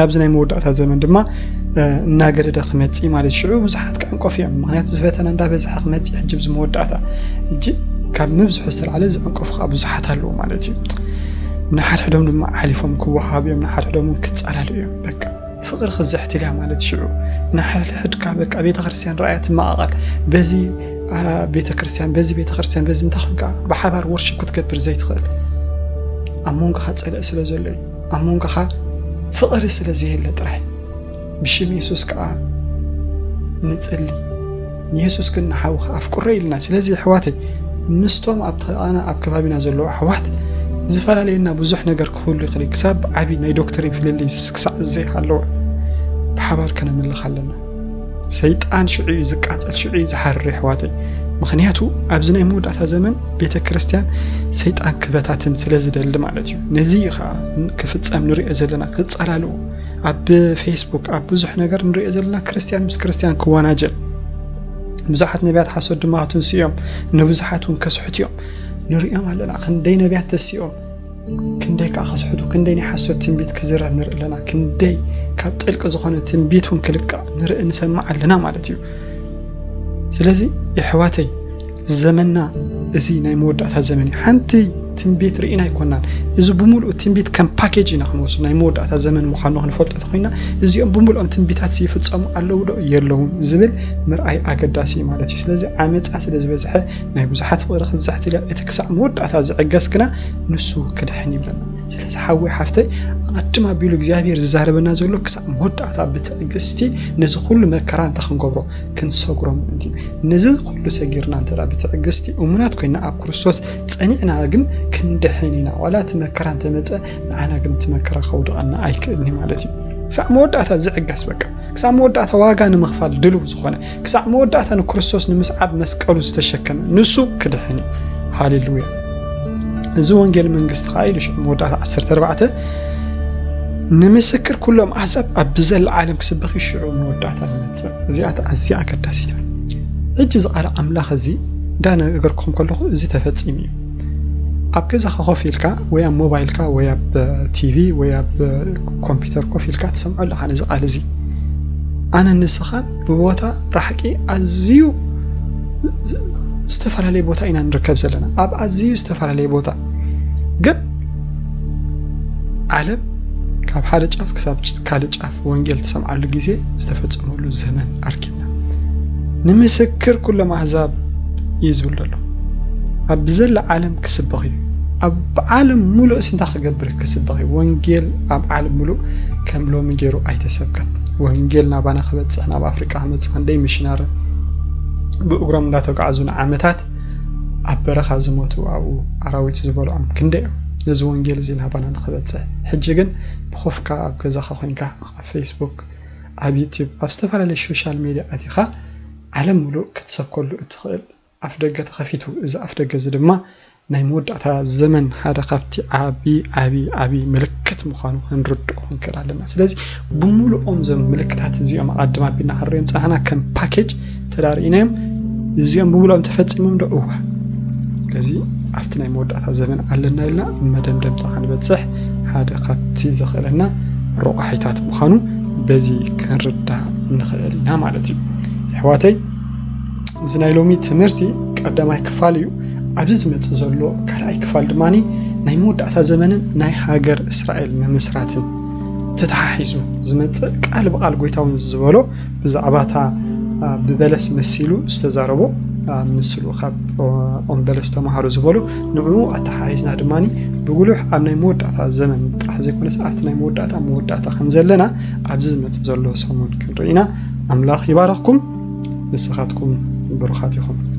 ኣብዚ ናይ መወዳእታ ዘመን ድማ፣ እ፣ እናገደደ ክመጽእ እዩ ማለት እዩ። ሽዑ ብዙሓት ክዕንቀፉ እዮም። ምኽንያቱ እዚ ፈተና እንዳበዝሐ ክመጽእ እዩ ሕጂ ኣብዚ መወዳእታ። ሕጂ ካብ ምብዝሑ ዝተላዕለ ዝዕንቀፉ ከዓ ብዙሓት ኣለዉ ማለት እዩ። ንሓድሕዶም ድማ ሓሊፎም ክወሃሃቡ እዮም፣ ንሓድሕዶም እውን ክጸላልኡ እዮም። በቃ ፍቕሪ ክዝሕትል እያ ማለት ሽዑ። ንሓድሕድካ በቃ ቤተክርስትያን ረኣያ ትመቓቐል። በዚ፣ አ፣ ቤተክርስትያን፣ በዚ ቤተክርስትያን፣ በዚ እንታይ ኮንካ ብሓባር ወርሺፕ ክትገብር ዘይትኽእል? ኣብ መንጎኻ ጸልኢ ስለ ዘሎ እዩ። ኣብ መንጎኻ ፍቕሪ ስለ ዘየለ ጥራሕ። ብሽም የሱስ ከኣ ንጽሊ። ንየሱስ ግን ንሓውኻ ኣፍቅሮ ኢልና። ስለዚ ኣሕዋተይ፣ ምስቶም ኣብ ጥቓና ኣብ ከባቢና ዘለዉ ኣሕዋት ዝፈላለየና ብዙሕ ነገር ክህሉ ይኽእል እዩ። ክሳብ ዓቢ ናይ ዶክትሪን ፍልልይ ክሳዕ ዘይሃለወ ብሓባር ከነምልኽ ኣለና። ሰይጣን ሽዑ እዩ ዝቃጸል፣ ሽዑ እዩ ዝሓርር ኣሕዋተይ። ምኽንያቱ ኣብዚ ናይ መወዳእታ ዘመን ቤተ ክርስቲያን ሰይጣን ክበታትን ስለ ዝደሊ ማለት እዩ። ነዚ እዩ ኸዓ ክፍጸም ንሪኦ ዘለና፣ ክጸላልኡ ኣብ ፌስቡክ ኣብ ብዙሕ ነገር ንሪኦ ዘለና፣ ክርስቲያን ምስ ክርስቲያን ክወናጀል፣ ብዙሓት ነቢያት ሓሶት ድማ ክትንስኡ እዮም፣ ንብዙሓት እውን ከስሕቱ እዮም። ንሪኦም ኣለና፣ ክንደይ ነቢያት ተሲኦም፣ ክንደይ ከኣ ከስሕቱ፣ ክንደይ ናይ ሓሶት ትንቢት ክዝረብ ንርኢ ኣለና፣ ክንደይ ካብ ጥልቂ ዝኾነ ትንቢት እውን ክልቃ ንርኢ ንሰምዕ ኣለና ማለት እዩ። ስለዚ የሕዋተይ፣ ዘመንና እዚ ናይ መወዳእታ ዘመን እዩ። ሓንቲ ትንቢት ርኢና ኣይኮናን። እዚ ብምሉኡ ትንቢት ከም ፓኬጅ ኢና ክንወስድ፣ ናይ መወዳእታ ዘመን ምዃኑ ክንፈልጦ ተኾይና፣ እዚኦም ብምሉኦም ትንቢታት ይፍጸሙ ኣለዉ ዶ የለውን ዝብል ምርኣይ ኣገዳሲ እዩ ማለት እዩ። ስለዚ ዓመጻ ስለ ዝበዝሐ ናይ ብዙሓት ፍቕሪ ክዝሕትል እያ። እቲ ክሳዕ መወዳእታ ዝዕገስ ግና ንሱ ክድሕን ይብለና። ስለዚ ሓወይ ሓፍተይ፣ ኣቐድም ኣቢሉ እግዚኣብሔር ዝዛረበና ዘሎ ክሳዕ መወዳእታ ብትዕግስቲ ነዚ ኩሉ መከራ እንታይ ክንገብሮ፣ ክንሰግሮ ምእንቲ እዩ። ነዚ ኩሉ ሰጊርና እንተ ደኣ ብትዕግስቲ እሙናት ኮይና ኣብ ክርስቶስ ጸኒዕና ግን ክንድሕን ኢና። ዋላ እቲ መከራ እንተመጸ ንዓና ግን እቲ መከራ ከውድቐና ኣይክእልን እዩ ማለት እዩ። ክሳዕ መወዳእታ ዝዕገስ በቃ። ክሳብ መወዳእታ ዋጋ ንምኽፋል ድልው ዝኾነ፣ ክሳብ መወዳእታ ንክርስቶስ ንምስዓብ መስቀሉ ዝተሸከመ ንሱ ክድሕን እዩ። ሃሌሉያ። እዚ ወንጌል መንግስቲ ኸዓ ኢሉ ሽዑ መወዳእታ ዓሰርተ ኣርባዕተ ንምስክር ኩሎም ኣሕዛብ ኣብ ብዘላ ዓለም ክስበኽ እዩ ሽዑ መወዳእታ ዝመጽእ። እዚኣ ኣዝያ ኣገዳሲት እያ። ሕጂ እዚ ቃል ኣምላኽ እዚ እንዳነገርኩም ከለኹ እዚ ተፈጺሙ እዩ። ኣብ ገዛኻ ኮፍ ኢልካ ወይ ኣብ ሞባይልካ ወይ ኣብ ቲቪ ወይ ኣብ ኮምፒውተር ኮፍ ኢልካ ትሰምዖ ኣለኻ ነዚ ቃል እዚ። ኣነ ንስኻን ብቦታ ራሕቂ ኣዝዩ ዝተፈላለየ ቦታ ኢና ንርከብ ዘለና፣ ኣብ ኣዝዩ ዝተፈላለየ ቦታ። ግን ዓለም ካብ ሓደ ጫፍ ክሳብ ካልእ ጫፍ ወንጌል ትሰምዓሉ ግዜ ዝተፈጸመሉ ዘመን ኣርኪብና። ንምስክር ኩሎም ኣህዛብ እዩ ዝብል ዘሎ። ኣብ ዘላ ዓለም ክስበኽ እዩ። ኣብ ዓለም ሙሉእ እንታይ ክገብር ክስበኽ እዩ። ወንጌል ኣብ ዓለም ሙሉእ ከም ሎሚ ገይሩ ኣይተሰብከን። ወንጌል ናባና ክበጽሕ፣ ናብ ኣፍሪቃ ክመጽእ ክንደይ ሚሽናሪ ብእግሮም እንዳተጓዓዙ ንዓመታት ኣብ በረኻ ዝሞቱ፣ ኣብኡ ኣራዊት ዝበልዖም ክንደይ እዮም። ነዚ ወንጌል እዚ ናባና ንክበጽሕ። ሕጂ ግን ብኾፍካ ኣብ ገዛኻ ኮይንካ ኣብ ፌስቡክ፣ ኣብ ዩቲዩብ፣ ኣብ ዝተፈላለዩ ሶሻል ሜድያ ኣቲኻ ዓለም ሙሉእ ክትሰብከሉ እትኽእል ኣፍ ደገ ተኸፊቱ። እዚ ኣፍ ደገ እዚ ድማ ናይ መወዳእታ ዘመን ሓደ ካብቲ ዓቢ ዓቢ ዓቢ ምልክት ምዃኑ ክንርድኦ ክንክእል ኣለና። ስለዚ ብምሉኦም እዞም ምልክታት እዚኦም ኣቐድም ኣቢልና ክንሪኦም ጸናሕና ከም ፓኬጅ ተዳርኢናዮም። እዚኦም ብምሉኦም ተፈጺሞም ዶ? እዋ። ስለዚ ኣብቲ ናይ መወዳእታ ዘመን ኣለና ኢልና መደምደምታ ክንበጽሕ ሓደ ካብቲ ዘኽእለና ረቋሒታት ምዃኑ በዚ ክንርዳእ ንኽእል ኢና ማለት እዩ። ኣሕዋተይ፣ እዚ ናይ ሎሚ ትምህርቲ ቀዳማይ ክፋል እዩ። ኣብዚ ዝመጽእ ዘሎ ካልኣይ ክፋል ድማ ናይ መወዳእታ ዘመንን ናይ ሃገር እስራኤል ምምስራትን ተተሓሒዙ ዝመጽእ ቃል ብቃል ጎይታ እውን ዝበሎ ብዛዕባ እታ፣ አ፣ ብበለስ መሲሉ ዝተዛረቦ፣ አ፣ ምስሉ ካብ ኦ-፣ ኦም በለስ ተማሃሩ ዝበሎ ንዕኡ ኣተሓሒዝና ድማ ብጉሉሕ ኣብ ናይ መወዳእታ ዘመን ጥራሕ ዘይኮነስ ኣብቲ ናይ መወዳእታ መወዳእታ ከም ዘለና ኣብዚ ዝመጽእ ዘሎ ሰሙን ክንርኢ ኢና። ኣምላኽ ይባረኽኩም። ንስኻትኩም ብሩኻት ኢኹም።